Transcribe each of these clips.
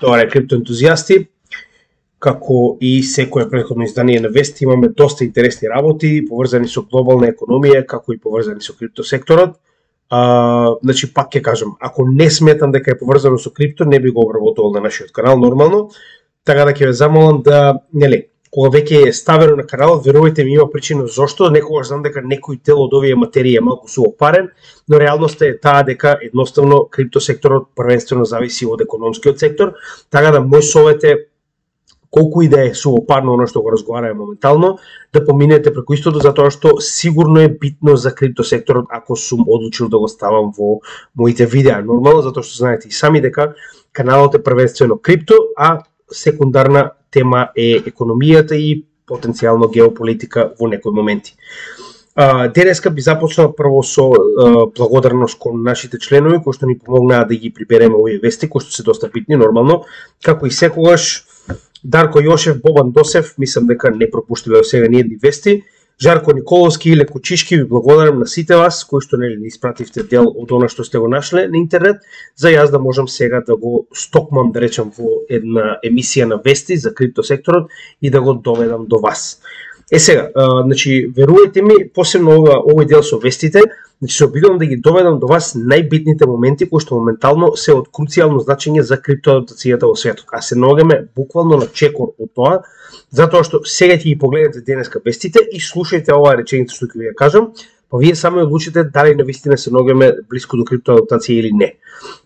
Тоа е криптоентузијасти. Како и секое претходно издание на Вести, имаме доста интересни работи, поврзани со глобална економија, како и поврзани со криптосекторот. Значи, пак ќе кажам, ако не сметам дека е поврзано со крипто, не би го обработувал на нашиот канал нормално, така да ќе ве замолам да, кога веќе е ставено на каналот, верувајте ми, има причина зошто. Некогаш знам дека некој дел од овие материи е малку суопарен, но реалноста е таа дека едноставно криптосекторот првенствено зависи од економскиот сектор, така да мој совет е, колку и да е суопарно оно што го разговараме моментално, да поминете преку истото, затоа што сигурно е битно за криптосекторот ако сум одлучил да го ставам во моите видеа. Нормално, затоа што знаете и сами дека каналот е првенствено крипто, а секундарна тема е економијата и потенцијално геополитика во некои моменти. Денеска би започнал прво со благодарност кон нашите членови кои што ни помогнаа да ги прибереме овие вести, кои што се доста битни нормално, како и секогаш Дарко Јошев, Бобан Досев, мислам дека не пропуштиле до сега ни едни вести. Жарко Николовски и Леко Чишки, ви благодарам на сите вас кои што не испративте дел од она што сте го нашле на интернет, за јас да можам сега да го стокмам, да речам, во една емисија на вести за криптосекторот и да го доведам до вас. Сега, значи, верувајте ми, посебно овој дел со вестите, значи се обидувам да ги доведам до вас најбитните моменти кои што моментално се од круцијално значење за криптоадаптацијата во светот. А се наоѓаме буквално на чекор од тоа, затоа што сега ќе ги погледнете денеска вестите и слушајте оваа реченица што ќе ви ја кажам, па вие само одлучите дали навистина се наоѓаме блиску до криптоадаптација или не.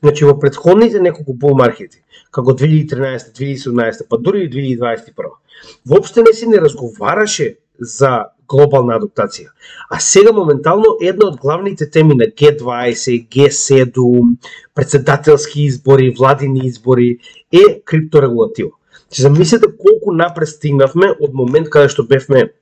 Значи во претходните неколку бул маркети, како 2013, 2017, па дури и 2021, воопште не се не разговараше за глобална адаптација. А сега моментално една од главните теми на G20, G7, председателски избори, владини избори е крипторегулатива. Че замислете колку напред стигнавме од момент каде што бевме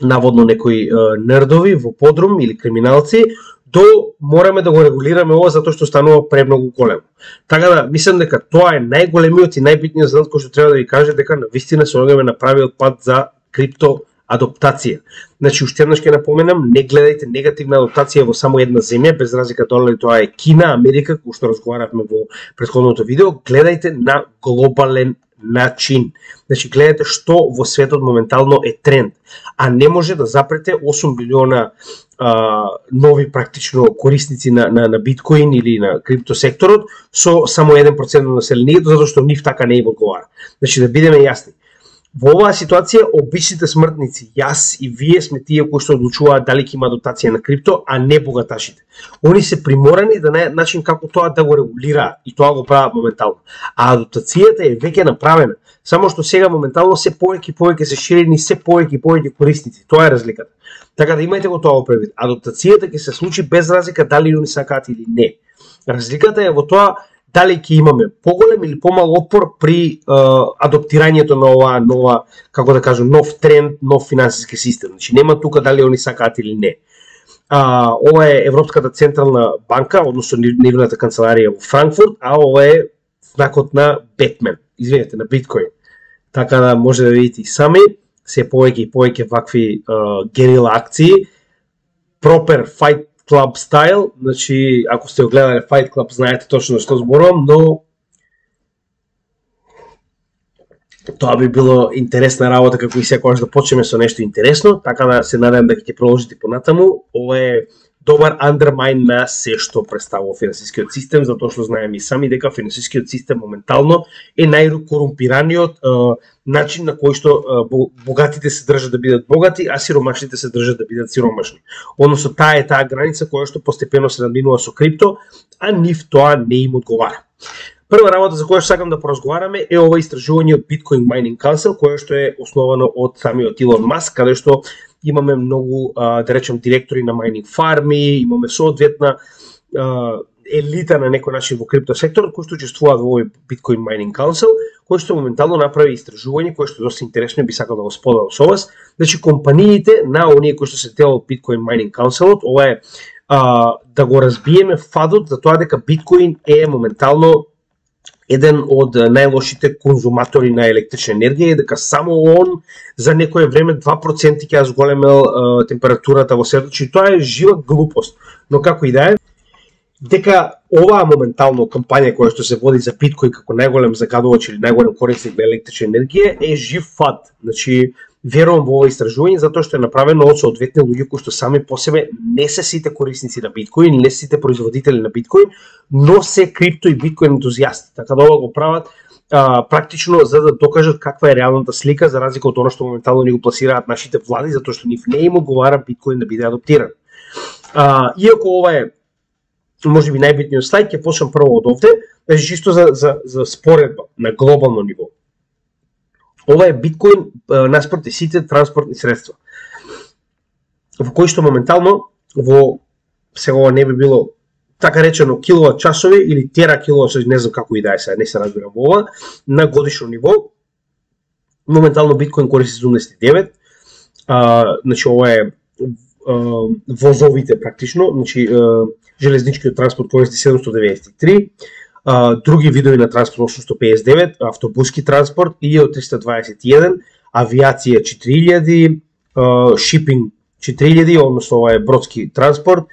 наводно некои нердови во подрум или криминалци, до мораме да го регулираме ова затоа што станува премногу големо. Така да, мислам дека тоа е најголемиот и најбитниот задаток кој што треба да ви каже дека навистина се наоѓаме на правиот пат за криптоадаптација. Значи, уште еднаш ќе напоменам, не гледајте негативна адаптација во само една земја, без разлика дали тоа е Кина, Америка, кој што разговаравме во претходното видео, гледајте на глобален начин. Значи, гледате што во светот моментално е тренд, а не може да запрете 8 билиона нови практично корисници на биткоин или на криптосекторот со само 1% на населението, затоа што нив така не им одговара. Значи, да бидеме јасни. Во оваа ситуација, обичните смртници, јас и вие сме тие кои што одлучуваат дали ќе има адаптација на крипто, а не богаташите. Они се приморани да најдат начин како тоа да го регулираат и тоа го прават моментално. А адаптацијата е веќе направена, само што сега моментално се повеќе се ширени, се повеќе корисници. Тоа е разликата. Така да имајте го тоа во предвид. Адаптацијата ќе се случи без разлика дали они сакаат или не. Разликата е во тоа дали ќе имаме поголем или помал отпор при адаптирањето на оваа нова, како да кажам, нов тренд, нов финансиски систем. Значи нема тука дали они сакаат или не. Ова е Европската централна банка, односно нивната канцеларија во Франкфурт, а ова е знакот на Бетмен, извинете, на биткоин. Така да може да видите и сами, се повеќе и повеќе вакви герила акции, Proper Fight Club style, значи ако сте го гледале Fight Club знаете точно што зборувам, но тоа би било интересна работа како и секогаш да почнеме со нешто интересно, така да се надевам дека ќе продолжите понатаму. Ова е добар андермайн на се што представува финансискиот систем, затоа што знаеме и сами дека финансискиот систем моментално е најкорумпираниот начин на кој што богатите се држат да бидат богати, а сиромашните се држат да бидат сиромашни. Односно таа е таа граница која што постепено се надминува со крипто, а нив тоа не им одговара. Прва работа за која што сакам да поразговараме е ова истражување од Bitcoin Mining Council, кое што е основано од самиот Илон Маск, каде што имаме многу, да речем, директори на майнинг фарми, имаме соодветна елита на некој начин во криптосекторот кои што учествуваат во овој Bitcoin Mining Council, кој што моментално направи истражување кое што е доста интересно и би сакал да го споделам со вас. Значи компаниите на оние кои што се дел од Bitcoin Mining Council, ова е да го разбиеме фадот за тоа дека биткоин е моментално еден од најлошите конзуматори на електрична енергија и дека само он за некое време 2% ќе зголемел температурата во светот, че тоа е жива глупост. Но како и да е, дека оваа моментално кампања која што се води за биткоин како најголем загадувач или најголем корисник на електрична енергија е жив фат. Значи, верувам во ова истражување затоа што е направено од соодветни луѓе кои што сами по себе не се сите корисници на биткоин, не се сите производители на биткоин, но се крипто и биткоин ентузијасти. Така да ова го прават практично за да докажат каква е реалната слика за разлика од она што моментално ни го пласираат нашите влади затоа што нив не им одговара биткоин да биде адаптиран. Иако ова е може би најбитниот слайд, ќе почнам прво од овде, чисто за споредба на глобално ниво. Ова е биткоин наспоред сите транспортни средства, во кои што моментално во сега ова не би било така речено киловат часови или тера киловат часови, не знам како и да е сега, не се разбирам во ова, на годишно ниво. Моментално биткоин користи 79, значи ова е возовите практично, значи железничкиот транспорт користи 793, други видови на транспорт 859, автобуски транспорт и од 321, авиација 4000, шипинг 4000, односно ова е бродски транспорт,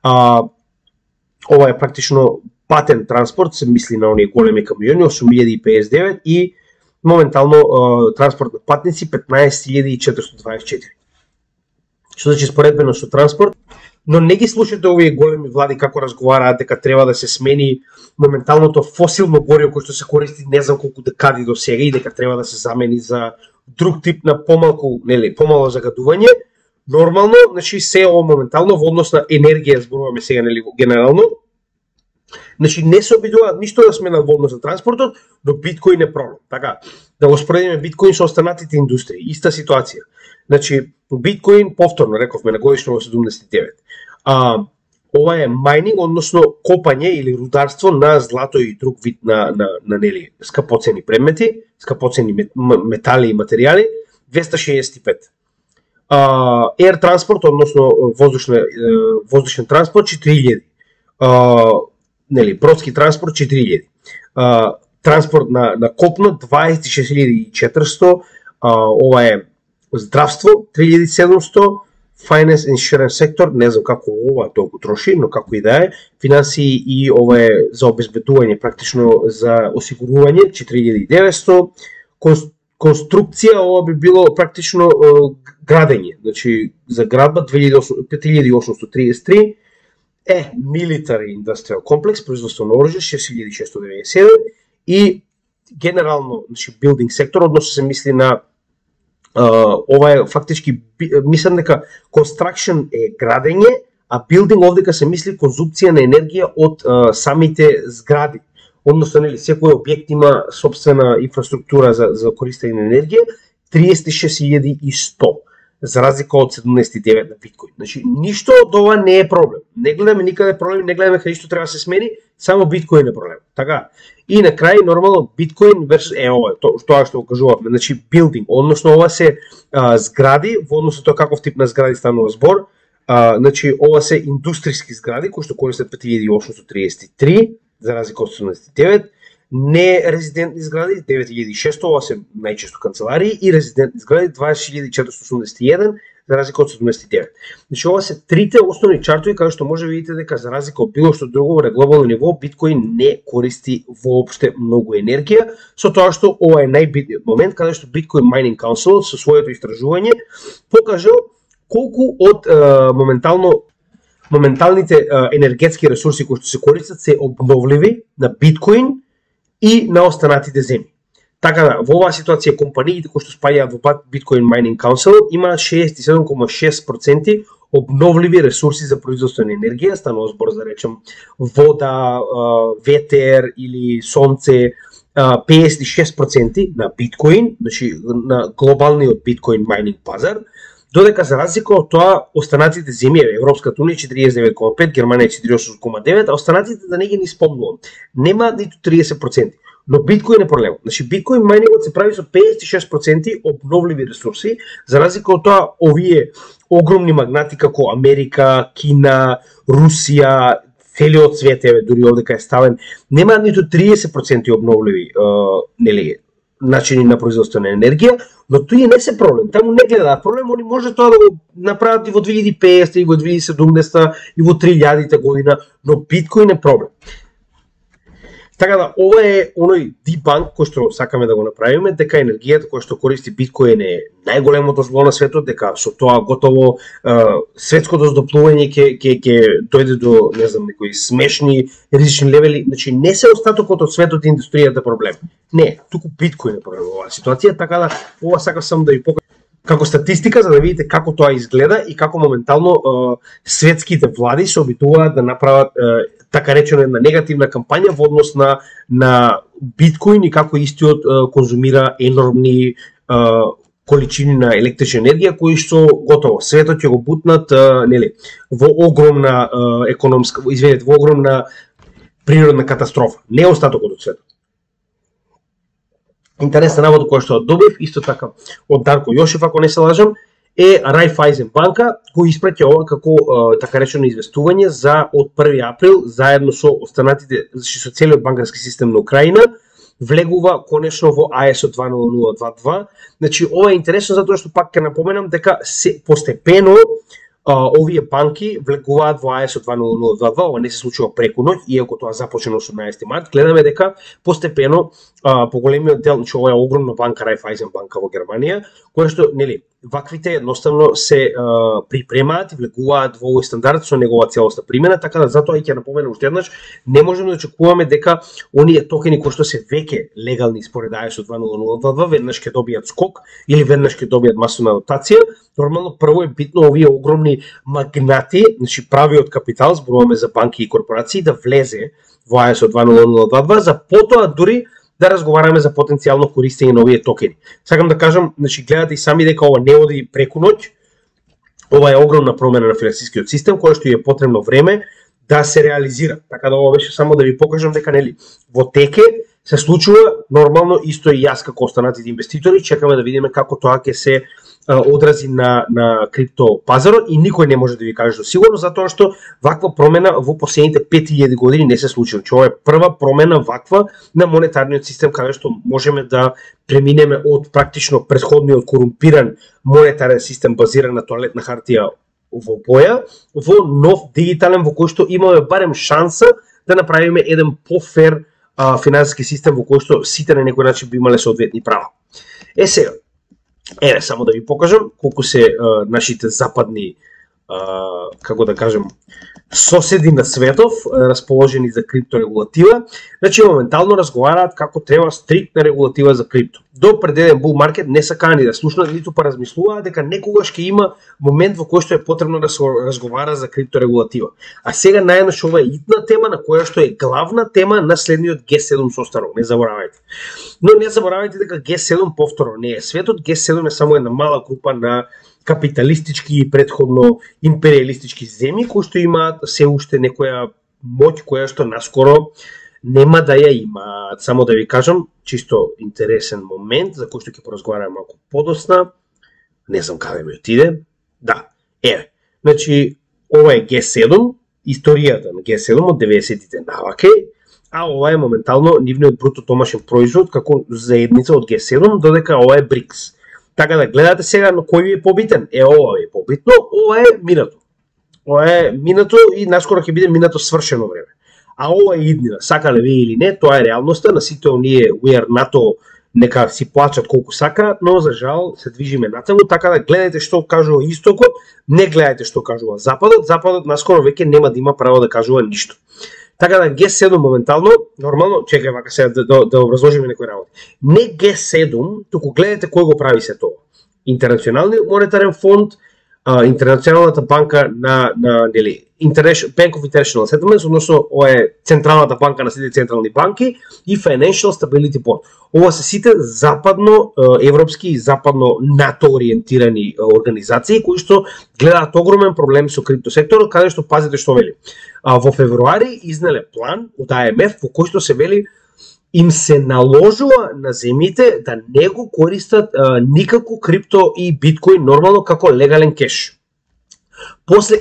ова е практично патен транспорт, се мисли на оние големи камиони 8059 и моментално транспорт на патници 15424. Што значи споредбено со транспорт, но не ги слушате овие големи влади како разговараат дека треба да се смени моменталното фосилно гориво кој што се користи не знам колку декади до сега и дека треба да се замени за друг тип на помалку, нели, помало загадување. Нормално, значи се ова моментално во однос на енергија зборуваме сега, нели, генерално. Значи не се обидуваат ништо да сменат во однос на транспортот, но биткоин е проблем. Така, да го споредиме биткоин со останатите индустрии, иста ситуација. Значи биткоин повторно рековме на годишно во 79. Ова е мајнинг, односно копање или рударство на злато и друг вид на нели скапоцени предмети, скапоцени метали и материјали 265. Air транспорт, односно воздушен транспорт 4000. Нели бродски транспорт 4000. Транспорт на копно 26400. Ова е здравство 3700. Finance insurance сектор, не знам како ова толку троши, но како и да е, финансии и ова е за обезбедување, практично за осигурување 4900, конструкција ова би било практично градење, значи за градба 5833, military industrial complex, производство на оружје 6697 и генерално, значи building сектор, односно се мисли на ова е фактички, мислам дека construction е градење, а building овдека се мисли конзумција на енергија од самите згради. Односно, нели, секој објект има собствена инфраструктура за користење на енергија, 36100, за разлика од 79 на биткоин. Значи, ништо од ова не е проблем. Не гледаме никаде проблем, не гледаме каде што треба да се смени, само биткоин е проблем. Така. И на крај нормално биткоин версус ова, тоа што го кажувавме, значи билдинг, односно ова се згради, во однос на тоа каков тип на згради станува збор, значи ова се индустријски згради кои што користат 5833 за разлика од 79, не резидентни згради 9600, ова се најчесто канцеларии и резидентни згради 20481 за разлика од 79. Значи ова се трите основни чартови каде што може видите дека за разлика од било што друго на глобално ниво биткоин не користи воопште многу енергија, со тоа што ова е најбитниот момент каде што Bitcoin Mining Council со своето истражување покажал колку од моменталните енергетски ресурси кои што се користат се обновливи на биткоин и на останатите земји. Така да, во оваа ситуација компаниите кои што спаѓаат во Bitcoin Mining Council имаат 67,6% обновливи ресурси за производство на енергија, станува збор за речем вода, ветер или сонце, 56% на биткоин, значи на глобалниот биткоин майнинг пазар, додека за разлика од тоа останатите земји, Европската унија 49,5, Германија 48,9, а останатите да не ги ни спомнувам, немаат ниту 30%. Но биткоин е проблем. Значи биткоин мајнингот се прави со 56% обновливи ресурси, за разлика од тоа овие огромни магнати како Америка, Кина, Русија, целиот свет, дури овдека е ставен, немаат ниту 30% обновливи, нели, начини на производство на енергија, но тој не се проблем. Таму не гледаат проблем, они може тоа да го направат и во 2050 и во 2070 и во 3000 година, но биткоин е проблем. Така да, ова е оној дебанк кој што сакаме да го направиме, дека енергијата која што користи биткоин е најголемото зло на светот, дека со тоа готово светското здоплување ќе дојде до, не знам, некои смешни ризични левели. Значи не се остатокот од светот и индустријата проблем. Не, туку биткоин е проблем во оваа ситуација, така да ова сакам само да ви покажам како статистика за да видите како тоа изгледа и како моментално светските влади се обидуваат да направат така речено една негативна кампања во однос на биткоин и како истиот конзумира енормни количини на електрична енергија кои што готово светот ќе го бутнат нели во огромна економска, извинете, во огромна природна катастрофа, не остатокот од светот. Интересна работа која што добив исто така од Дарко Јошев, ако не се лажам, е Райфајзен банка кој испраќа ова како така речено известување за од 1 април заедно со останатите, значи со целиот банкарски систем на Украина влегува конечно во ISO 20022. Значи ова е интересно затоа што пак ќе напоменам дека постепено овие банки влегуваат во ISO 20022, ова не се случува преку ноќ, иако тоа започна на 18 март. Гледаме дека постепено поголемиот дел, значи ова е огромна банка, Райфајзен банка во Германија, која што нели ваквите едноставно се припремаат и влегуваат во овој стандард со негова целосна примена, така да затоа и ќе напоменам уште еднаш, не можеме да очекуваме дека оние токени кои што се веќе легални според ISO 20022 веднаш ќе добијат скок или веднаш ќе добијат масовна адоптација. Нормално прво е битно овие огромни магнати, значи правиот капитал, зборуваме за банки и корпорации, да влезе во ISO 20022 за потоа дури да разговараме за потенцијално користење на овие токени. Сакам да кажам, значи гледате и сами дека ова не оди преку ноќ. Ова е огромна промена на финансискиот систем која што е потребно време да се реализира. Така да ова беше само да ви покажам дека нели во теке се случува нормално исто и јас како останатите инвеститори чекаме да видиме како тоа ќе се одрази на крипто пазарот и никој не може да ви каже сигурно затоа што ваква промена во последните 5000 години не се случила. Ова е прва промена ваква на монетарниот систем каде што можеме да преминеме од практично претходниот корумпиран монетарен систем базиран на тоалетна хартија во боја во нов дигитален во кој што имаме барем шанса да направиме еден пофер финансиски систем во кој што сите на некој начин би имале соодветни права. Сега, еве само да ви покажам колку се нашите западни како да кажем соседи на светов расположени за крипторегулатива. Значи моментално разговараат како треба стриктна регулатива за крипто. До пред еден бул маркет не се кани да слушнат ниту па размислуваат дека некогаш ќе има момент во кој што е потребно да се разговара за крипторегулатива. А сега најнаш ова е итна тема на која што е главна тема на следниот G7 состанок, не заборавајте. Но не заборавајте дека G7 повторно не е светот, G7 е само една мала група на капиталистички и претходно империалистички земји кои што имаат се уште некоја моќ која што наскоро нема да ја имаат. Само да ви кажам, чисто интересен момент за кој што ќе поразговараме малку подосна. Не знам каде ми отиде. Да, еве. Значи, ова е G7, историјата на G7 од 90-тите наваке, а ова е моментално нивниот бруто домашен производ како заедница од G7, додека ова е БРИКС. Така да гледате сега на кој ви е побитен. Ова е побитно, ова е минато. Ова е минато и наскоро ќе биде минато свршено време. А ова е иднина. Сакале ви или не, тоа е реалноста. На сите оние we are НАТО нека си плачат колку сакаат, но за жал се движиме натаму, така да гледајте што кажува Истокот, не гледајте што кажува Западот. Западот наскоро веќе нема да има право да кажува ништо. Така да G7 моментално, нормално, чекај вака сега да образложиме некои работи. Не G7, туку гледате кој го прави се тоа. Интернационалниот монетарен фонд, Интернационалната банка на нели Bank of International Settlements, односно ова е централната банка на сите централни банки и Financial Stability Board. Ова се сите западно европски и западно НАТО ориентирани организации кои што гледаат огромен проблем со криптосекторот, каде што пазите што вели. Во февруари изнеле план од АМФ во кој што се вели им се наложува на земјите да не го користат никако крипто и биткоин нормално како легален кеш. После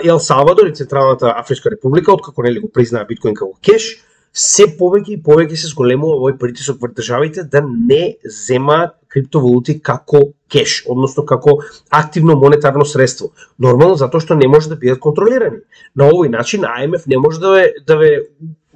Ел Салвадор и Централната Афричка република, откако нели го признаа биткоин како кеш, се повеќе и повеќе се зголемува овој притисок врз државите да не земаат криптовалути како кеш, односно како активно монетарно средство. Нормално затоа што не може да бидат контролирани. На овој начин АМФ не може да ве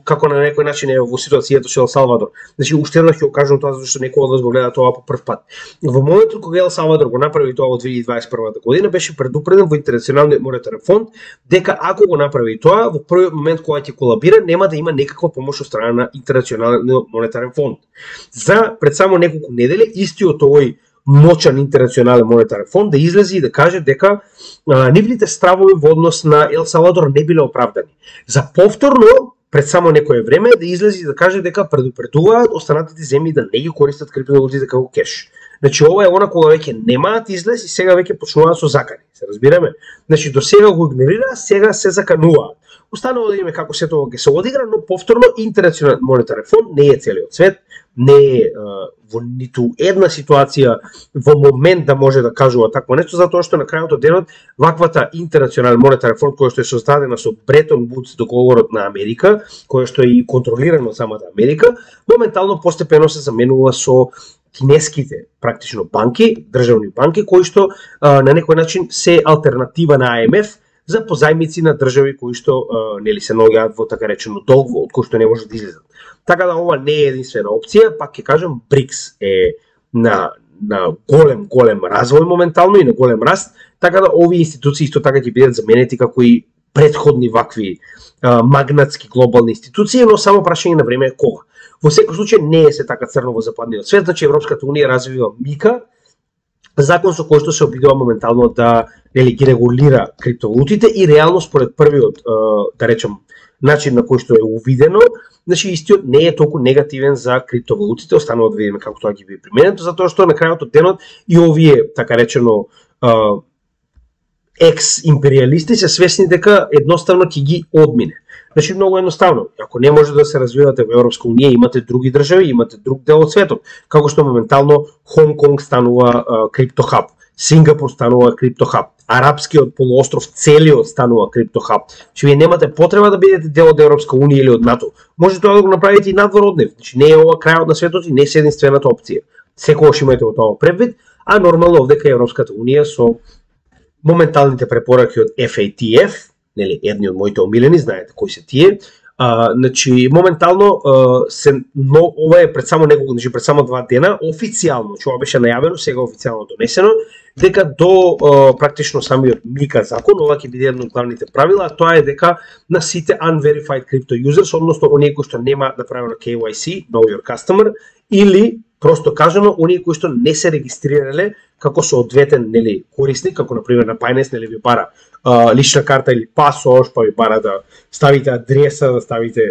како на некој начин е во ситуацијата со Ел Салвадор. Значи уште еднаш ќе го кажам тоа зашто некој од вас го гледа тоа по прв пат. Во моментот кога Ел Салвадор го направи тоа во 2021 година беше предупреден во Интернационалниот монетарен фонд дека ако го направи тоа во првиот момент кога ќе колабира нема да има некаква помош од страна на Интернационалниот монетарен фонд. За пред само неколку недели истиот овој мочан Интернационален монетарен фонд да излезе и да каже дека нивните стравови во однос на Ел Салвадор не биле оправдани. За повторно пред само некое време да излезе и да каже дека предупредуваат останатите земји да не ги користат криптовалутите како кеш. Значи ова е она кога веќе немаат излез и сега веќе почнуваат со закани. Се разбираме? Значи до сега го игнорира, сега се закануваат. Останува да видиме како се тоа ќе се одигра, но повторно Интернационален монетарен фонд не е целиот свет, не е во ниту една ситуација во момент да може да кажува такво нешто, затоа што на крајот од денот ваквата Интернационален монетарен фонд која што е создадена со Бретон Вудс договорот на Америка, која што е и контролирано од самата Америка, моментално постепено се заменува со кинеските практично банки, државни банки кои што на некој начин се алтернатива на АМФ за позајмици на држави кои што нели се наоѓаат во така речено долг, од кој што не може да излезат. Така да ова не е единствена опција, пак ќе кажам БРИКС е на голем развој моментално и на голем раст, така да овие институции исто така ќе бидат заменети како и претходни вакви магнатски глобални институции, но само прашање на време е кога. Во секој случај не е се така црно во западниот свет, значи Европската унија развива МИКА, закон со кој што се обидува моментално да ги регулира криптовалутите и реално според првиот, да речем, начин на кој што е увидено, значи истиот не е толку негативен за криптовалутите, останува да видиме како тоа ќе биде применето, затоа што на крајот од денот и овие така речено екс-империалисти се свесни дека едноставно ќе ги одмине. Значи многу едноставно, ако не може да се развивате во Европска унија, имате други држави, имате друг дел од светот, како што моментално Хонг Конг станува криптохаб, Сингапур станува криптохаб, Арапскиот полуостров целиот станува криптохаб. Значи вие немате потреба да бидете дел од Европска унија или од НАТО. Може тоа да го направите и надвор од нив. Значи не е ова крајот на светот и не е единствената опција. Секогаш имате во тоа предвид, а нормално овдека Европската унија со моменталните препораки од FATF, нели едни од моите омилени, знаете кои се тие. Значи моментално ова е пред само неколку, значи пред само 2 дена официјално, ова беше најавено, сега официјално донесено, дека до практично самиот МИКА закон, ова ќе биде едно од главните правила, а тоа е дека на сите unverified crypto users, односно оние кои што нема направено KYC, know your customer, или просто кажано оние кои што не се регистрирале како соодветен нели корисник, како на пример на Binance нели ви бара лична карта или пасош, па ви бара да ставите адреса, да ставите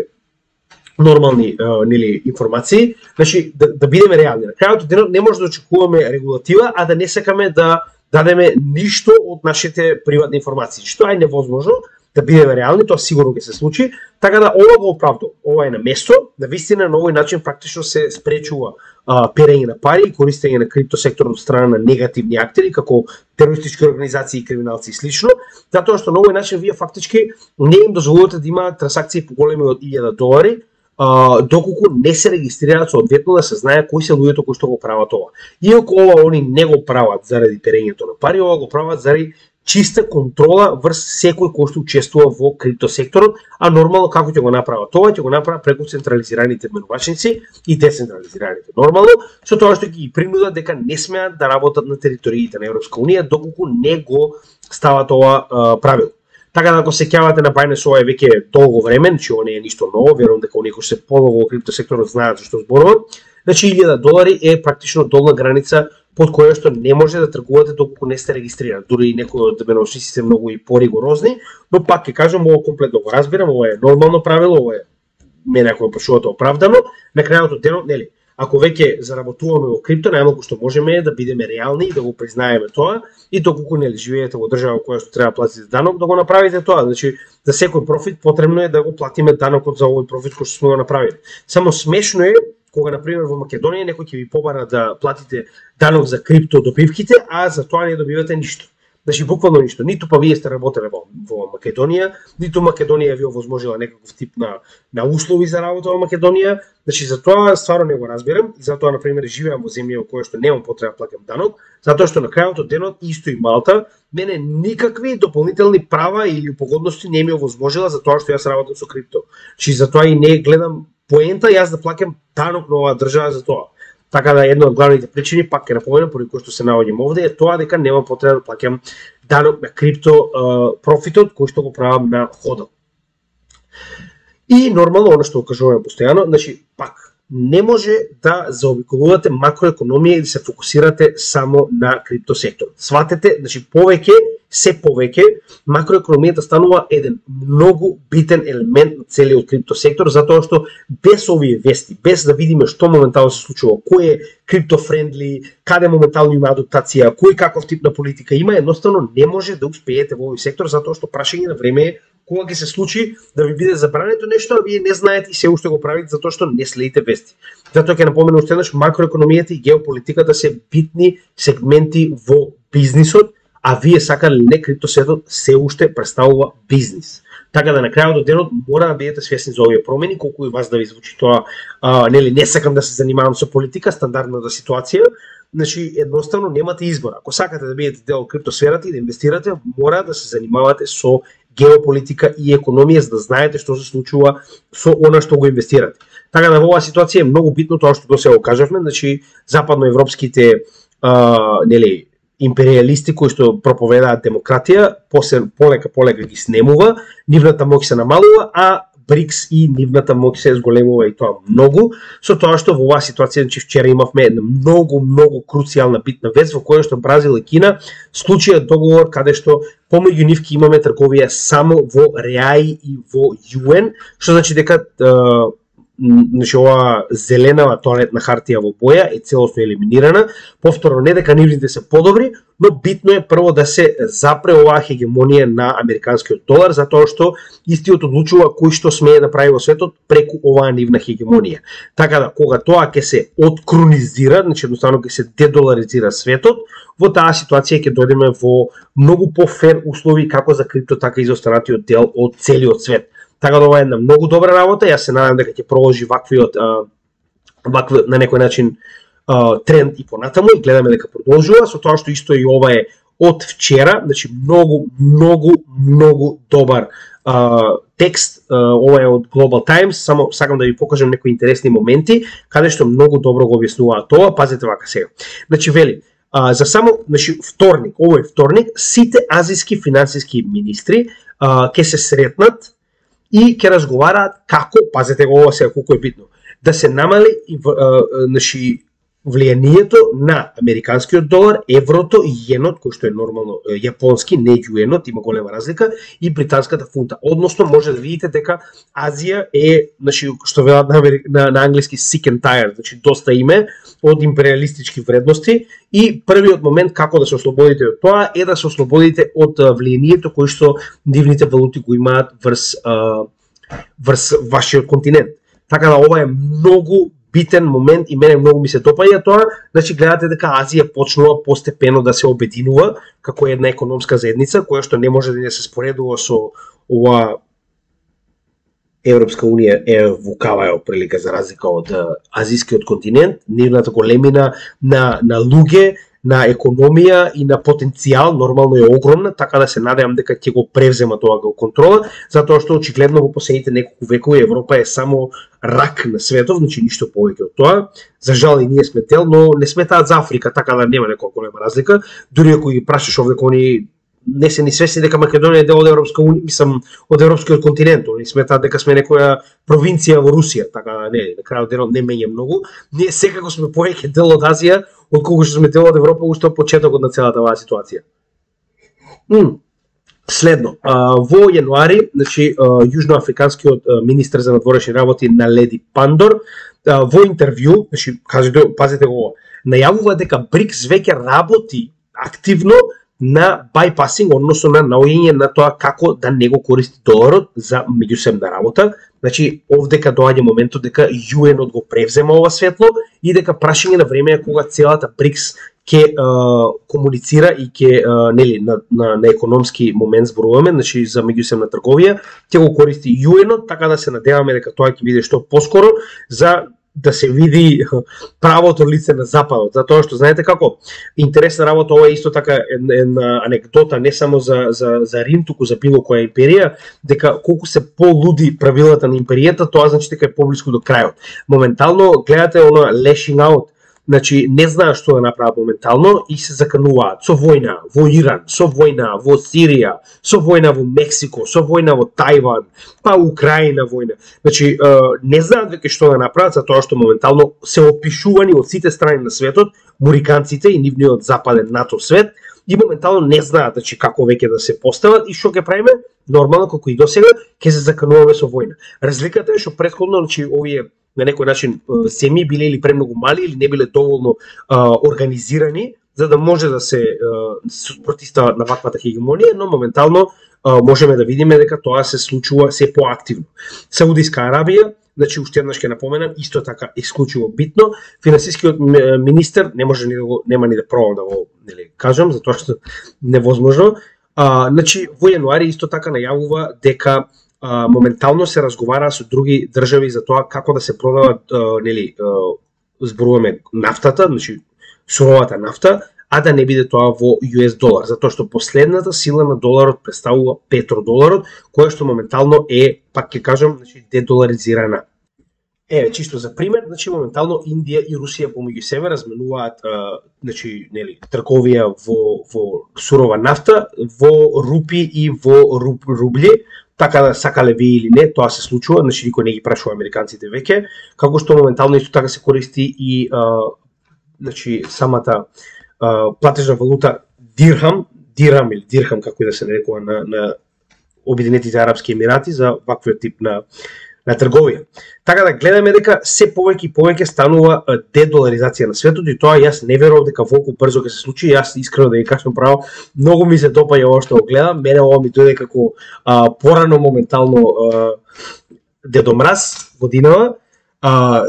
нормални нели информации. Значи да бидеме реални. На крајот од денот не може да очекуваме регулатива, а да не сакаме да дадеме ништо од нашите приватни информации, што е невозможно. Да бидеме реални, тоа сигурно ќе се случи, така да ова го оправдува. Ова е на место, на вистина на овој начин практично се спречува перење на пари и користење на криптосекторот од страна на негативни актери, како терористички организации и криминалци и слично, затоа што на овој начин вие фактички не им дозволувате да има трансакции поголеми од $1000, доколку не се регистрираат соодветно да се знае кои се луѓето кои што го прават ова. Иако ова они не го прават заради перењето на пари, ова го прават заради чиста контрола врз секој кој што учествува во криптосекторот, а нормално како ќе го направат тоа, ќе го направат преку централизираните менувачници и децентрализираните. Нормално, со тоа што ги принудат дека не смеат да работат на териториите на Европска унија доколку не го стават ова правило. Така да ако се сеќавате на Binance, ова е веќе долго време, значи ова не е ништо ново, верувам дека оние кои се подолго во криптосекторот знаат за што зборувам. Значи $1000 е практично долна граница под која што не може да тргувате доколку не сте регистрирани. Дури и некои од менувачниците се многу и поригорозни, но пак ќе кажам, ова комплетно го разбирам, ова е нормално правило, ова е мене ако ме прашувате оправдано. На крајот од денот, нели, ако веќе заработуваме во крипто, најмалку што можеме е да бидеме реални и да го признаеме тоа, и доколку нели живеете во држава која што треба да платите данок, да го направите тоа. Значи, за секој профит потребно е да го платиме данокот за овој профит кој што сме го направили. Само смешно е кога на пример во Македонија некој ќе ви побара да платите данок за крипто добивките, а за тоа не добивате ништо. Значи буквално ништо, ниту па вие сте работеле во Македонија, ниту Македонија ви овозможила некаков тип на услови за работа во Македонија. Значи за тоа стварно не го разбирам и затоа на пример живеам во земја во која што немам потреба плаќам данок, затоа што на крајот од денот исто и Малта мене никакви дополнителни права или погодности не ми овозможила за тоа што јас работам со крипто. Значи затоа и не гледам поента јас да плаќам данок на оваа држава за тоа. Така да една од главните причини, пак ќе напоменам, поради кој што се наоѓам овде, е тоа дека нема потреба да плаќам данок на крипто профитот кој што го правам на ходал. И нормално, она што го кажуваме постојано, значи пак не може да заобиколувате макроекономија и да се фокусирате само на крипто сектор. Сватете, значи се повеќе макроекономијата станува еден многу битен елемент на целиот крипто сектор, затоа што без овие вести, без да видиме што моментално се случува, кој е крипто-френдли, каде моментално има адаптација, кој каков тип на политика има, едноставно не може да успеете во овој сектор, затоа што прашање на време е кога ќе се случи да ви биде забрането нешто, а вие не знаете и се уште го правите затоа што не следите вести. Затоа ќе напоменам уште еднаш, макроекономијата и геополитиката се битни сегменти во бизнисот, а вие сакале не криптосветот се уште представува бизнис. Така да на крајот од денот мора да бидете свесни за овие промени, колку и вас да ви звучи тоа, нели не сакам да се занимавам со политика, стандардната ситуација. Значи едноставно немате избор. Ако сакате да бидете дел од криптосферата и да инвестирате, мора да се занимавате со геополитика и економија, за да знаете што се случува со она што го инвестирате. Така да во оваа ситуација е многу битно тоа што досега го кажавме, значи западноевропските нели империалисти кои што проповедаат демократија, полека ги снемува, нивната моќ се намалува, а БРИКС и нивната моќ се зголемува и тоа многу, со тоа што во оваа ситуација, значи вчера имавме една многу круцијална битна вест во која што Бразил и Кина склучија договор каде што помеѓу нив ќе имаме трговија само во реаи и во јуен, што значи дека значи оваа зеленава тоалетна хартија во боја е целосно елиминирана. Повторно, не дека нивните се подобри, но битно е прво да се запре оваа хегемонија на американскиот долар, затоа што истиот одлучува кој што смее да прави во светот преку оваа нивна хегемонија. Така да, кога тоа ќе се откронизира, значи едноставно ќе се дедоларизира светот, во таа ситуација ќе дојдеме во многу пофер услови како за крипто, така и за останатиот дел од целиот свет. Така да ова е една многу добра работа, јас се надам дека ќе продолжи ваквиот на некој начин тренд и понатаму и гледаме дека продолжува, со тоа што исто и ова е од вчера, значи многу добар текст, ова е од Global Times, само сакам да ви покажам некои интересни моменти, каде што многу добро го објаснуваат тоа, пазете вака сега. Значи вели, за само, значи вторник, овој вторник, сите азиски финансиски министри ќе се сретнат и ќе разговараат како, пазете го ова сега колку е битно, да се намали значи влијанието на американскиот долар, еврото и јенот, кој што е нормално јапонски, не јуенот, има голема разлика, и британската фунта. Односно може да видите дека Азија е, значи што велат на англиски sick and tired, значи доста име од империалистички вредности и првиот момент како да се ослободите од тоа е да се ослободите од влијанието кој што нивните валути го имаат врз вашиот континент. Така да ова е многу битен момент и мене многу ми се допаѓа тоа, значи гледате дека Азија почнува постепено да се обединува како една економска заедница која што не може да не се споредува со ова Европска унија е вукава е прилика за разлика од азискиот континент, нивната големина на луѓе, на економија и на потенцијал нормално е огромна, така да се надевам дека ќе го превзема тоа го контрола, затоа што очигледно во последните неколку векови Европа е само рак на светот, значи ништо повеќе од тоа. За жал и ние сме дел, но не сметаат за Африка, така да нема некоја голема разлика. Дури ако ги прашаш овде кои не се ни свесни дека Македонија е дел од Европска унија, мислам од европскиот континент, они сметаат дека сме некоја провинција во Русија, така да не, на крајот денот не меѓа многу. Ние секако сме повеќе дел од Азија, отколку што сме дел од Европа уште од почетокот на целата оваа ситуација. Следно, во јануари, значи јужноафриканскиот министер за надворешни работи Наледи Пандор во интервју, значи кажете, пазете го, најавува дека БРИКС веќе работи активно на bypassing, односно на наоѓање на тоа како да не го користи доларот за меѓусебна работа. Значи, овдека доаѓа моментот дека UN го превзема ова светло и дека прашање на време е кога целата БРИКС ќе комуницира и ќе нели на економски момент зборуваме, значи за меѓусебна трговија, ќе го користи UN-от, така да се надеваме дека тоа ќе биде што поскоро за да се види правото лице на Западот, затоа што знаете како интересна работа, ова е исто така една анекдота не само за Рим, туку за било која империја, дека колку се полуди правилата на империјата, тоа значи дека е поблиску до крајот. Моментално гледате она lashing out, значи не знаат што да направат моментално и се закануваат со војна во Иран, со војна во Сирија, со војна во Мексико, со војна во Тајван, па Украина војна. Значи не знаат веќе што да направат, затоа што моментално се опишувани од сите страни на светот, муриканците и нивниот западен НАТО свет, и моментално не знаат значи како веќе да се постават и што ќе правиме, нормално како и досега, ќе се закануваме со војна. Разликата е што претходно значи овие на некој начин земји биле или премногу мали или не биле доволно организирани за да може да се протистават на ваквата хегемонија, но моментално можеме да видиме дека тоа се случува се поактивно. Саудиска Арабија, значи уште еднаш ќе напоменам, исто така исклучиво битно, финансискиот министер не може ни да го нема ни да пробам да го нели кажам затоа што невозможно. Значи во јануари исто така најавува дека моментално се разговара со други држави за тоа како да се продават нели зборуваме нафтата, значи суровата нафта, а да не биде тоа во US долар, затоа што последната сила на доларот представува петродоларот, која што моментално е, пак ќе кажам, значи дедоларизирана. Чисто за пример, значи моментално Индија и Русија помеѓу себе разменуваат значи нели трговија во сурова нафта, во рупи и во рубли. Така да сакале ви или не, тоа се случува, значи никој не ги прашува американците веќе, како што моментално исто така се користи и значи самата платежна валута дирхам или дирхам како и да се нарекува на Обединетите арапски емирати за ваквиот тип на трговија. Така да гледаме дека се повеќе и повеќе станува дедоларизација на светот и тоа јас не верувам дека волку брзо ќе се случи. Јас искрено да ви кажам право, многу ми се допаѓа ова што го гледам. Мене ова ми дојде како порано моментално дедомраз годинава.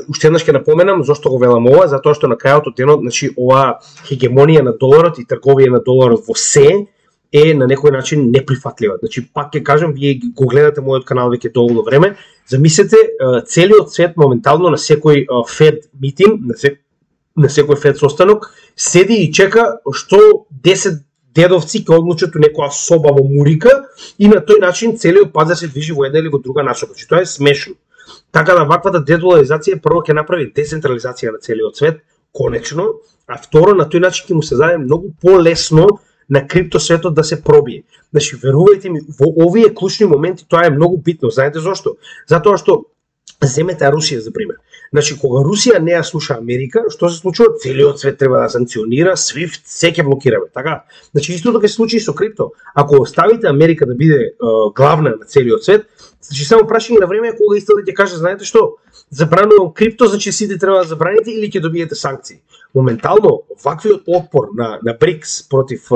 Уште еднаш ќе напоменам зошто го велам ова, затоа што на крајот од денот, значи ова хегемонија на доларот и трговија на доларот во се е на некој начин неприфатлива. Значи пак ќе кажам, вие го гледате мојот канал веќе доволно време. Замислете, целиот свет моментално на секој Фед митинг, на секој Фед состанок, седи и чека што 10 дедовци ќе одлучат у некоја соба во Мурика и на тој начин целиот пазар се движи во една или во друга насока. Значи тоа е смешно. Така да ваквата дедоларизација прво ќе направи децентрализација на целиот свет, конечно, а второ на тој начин ќе му се даде многу полесно на криптосветот да се пробие. Значи, верувајте ми, во овие клучни моменти тоа е многу битно. Знаете зошто? Затоа што земете Русија за пример. Значи, кога Русија не ја слуша Америка, што се случува? Целиот свет треба да санкционира, SWIFT, се ќе блокираме, така? Значи, истото ќе се случи и со крипто. Ако оставите Америка да биде главна на целиот свет, значи само прашање на време кога исто да ќе каже, знаете што? Забранувам крипто, значи сите треба да забраните или ќе добиете санкции. Моментално, ваквиот отпор на БРИКС против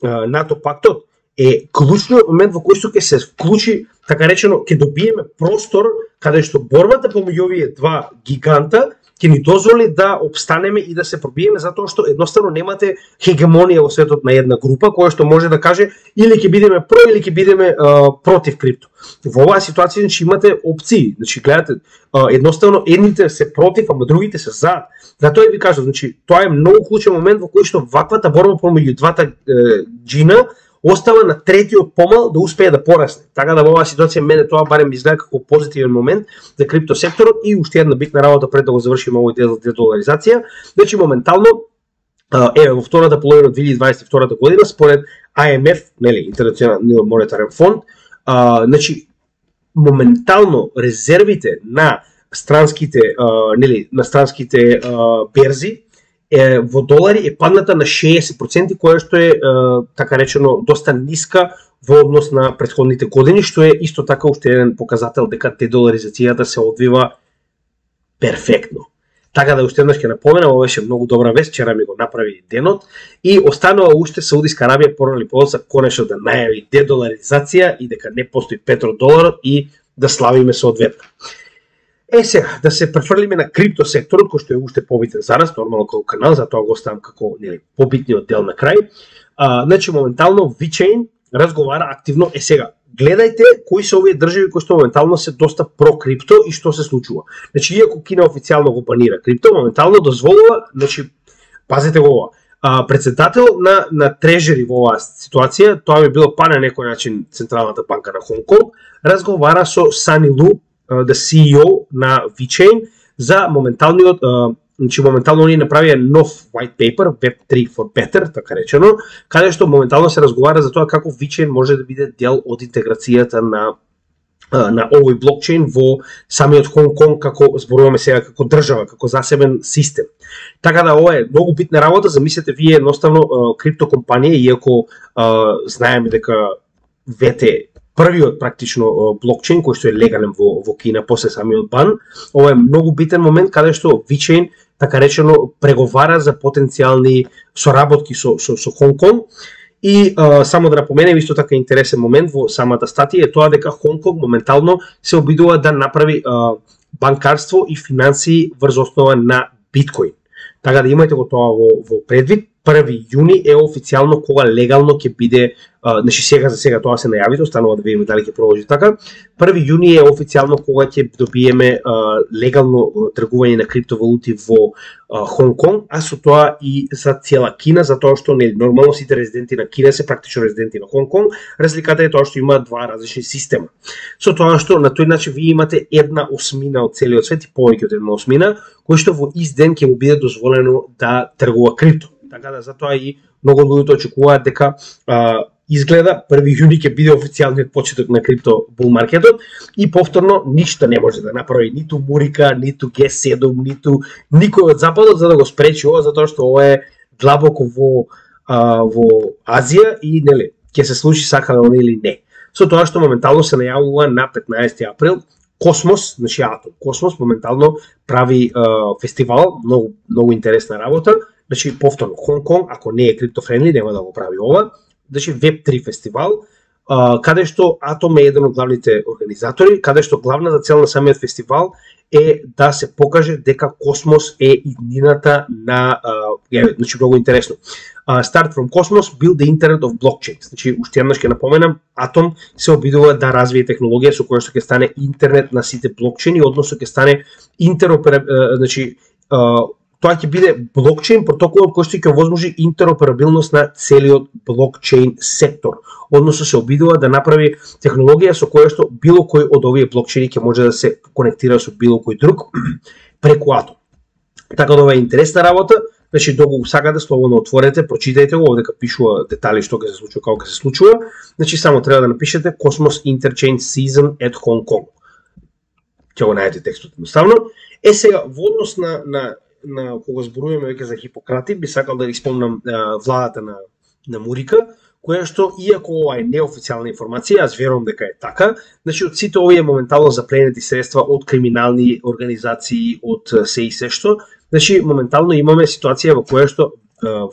НАТО пактот е клучниот момент во кој што ќе се вклучи, така речено, ќе добиеме простор каде што борбата помеѓу овие два гиганта ќе ни дозволи да обстанеме и да се пробиеме, затоа што едноставно немате хегемонија во светот на една група која што може да каже или ќе бидеме про или ќе бидеме против крипто. Во оваа ситуација значи имате опции, значи гледате, едноставно едните се против, ама другите се за. Затоа ви кажам, значи тоа е многу клучен момент во кој што ваквата борба помеѓу двата джина остава на третиот помал да успее да порасне. Така да во оваа ситуација мене тоа барем изгледа како позитивен момент за криптосекторот и уште една битна работа пред да го завршиме овој дел за дедоларизација. Значи моментално во втората половина од 2022 година според IMF, нели, Интернационалниот монетарен фонд, значи моментално резервите на странските нели на странските берзи во долари е падната на 60%, која што е така речено доста ниска во однос на претходните години, што е исто така уште еден показател дека дедоларизацијата се одвива перфектно. Така да уште еднаш ќе напоменам, ова беше многу добра вест, вчера ми го направи денот и останува уште Саудиска Арабија порано или подоцна конечно да најави дедоларизација и дека не постои петродоларот и да славиме соодветно. Сега, да се префрлиме на крипто секторот, кој што е уште побитен за нас, нормално како канал, затоа го оставам како побитниот дел на крај. Значи, моментално VeChain разговара активно. Сега, гледајте кои се овие држави кои што моментално се доста про крипто и што се случува. Значи, иако Кина официјално го банира крипто, моментално дозволува, значи, пазете го ова, председател на трежери во оваа ситуација, тоа би било па на некој начин Централната банка на Хонг Конг, разговара со Sunny Lu, the CEO на VeChain, за моменталниот, значи моментално они направија нов white paper, Web3 for Better, така речено, каде што моментално се разговара за тоа како VeChain може да биде дел од интеграцијата на овој блокчейн во самиот Хонг Конг, како зборуваме сега како држава, како засебен систем. Така да ова е многу битна работа, замислете вие едноставно крипто компанија, иако знаеме дека вете првиот практично блокчейн кој што е легален во Кина после самиот бан, ова е многу битен момент каде што VeChain така речено преговара за потенцијални соработки со Хонг Конг. И само да напоменем, исто така интересен момент во самата статија е тоа дека Хонг Конг моментално се обидува да направи банкарство и финансии врз основа на биткоин. Така да имајте го тоа во предвид. 1 јуни е официјално кога легално ќе биде, значи сега за сега тоа се најави, останува да видиме дали ќе продолжи така. 1 јуни е официјално кога ќе добиеме легално тргување на криптовалути во Хонг Конг, а со тоа и за цела Кина, затоа што нормално сите резиденти на Кина се практично резиденти на Хонг Конг. Разликата е тоа што има два различни система. Со тоа што на тој начин вие имате 1/8 од целиот свет и повеќе од 1/8, кој што во ист ден ќе му биде дозволено да тргува крипто. Така да затоа и многу луѓето очекуваат дека изгледа 1 јуни ќе биде официјалниот почеток на крипто бул маркетот и повторно ништо не може да направи ниту Мурика, ниту G7, ниту никој од западот за да го спречи ова, затоа што ова е длабоко во Азија и нели ќе се случи сакано или не. Со тоа што моментално се најавува на 15 април Космос, значи Атом Космос моментално прави фестивал, многу интересна работа. Значи, повторно, Хонг Конг, ако не е криптофрендли, нема да го прави ова. Значи, Web3 фестивал, каде што Атом е еден од главните организатори, каде што главната цел на самиот фестивал е да се покаже дека Космос е иднината на... значи, многу интересно. Start from Cosmos, build the internet of blockchains. Значи, уште еднаш ќе напоменам, Атом се обидува да развие технологија со која што ќе стане интернет на сите блокчейни, односно ќе стане значи, тоа ќе биде блокчейн протоколот кој што ќе овозможи интероперабилност на целиот блокчейн сектор. Односно се обидува да направи технологија со која што било кој од овие блокчейни ќе може да се конектира со било кој друг преку Атом. Така да ова е интересна работа. Значи, доколку сакате, слободно отворете, прочитајте го, овдека пишува детали што ќе се случува, како ќе се случува. Значи, само треба да напишете Cosmos Interchange Season at Hong Kong. Ќе го најдете текстот едноставно. Сега, во однос на кога зборуваме веќе за Хипократи, би сакал да ги спомнам владата на Мурика, која што, иако ова е неофицијална информација, аз верувам дека е така, значи од сите овие моментално запленети средства од криминални организации, од се и се што, значи моментално имаме ситуација во која што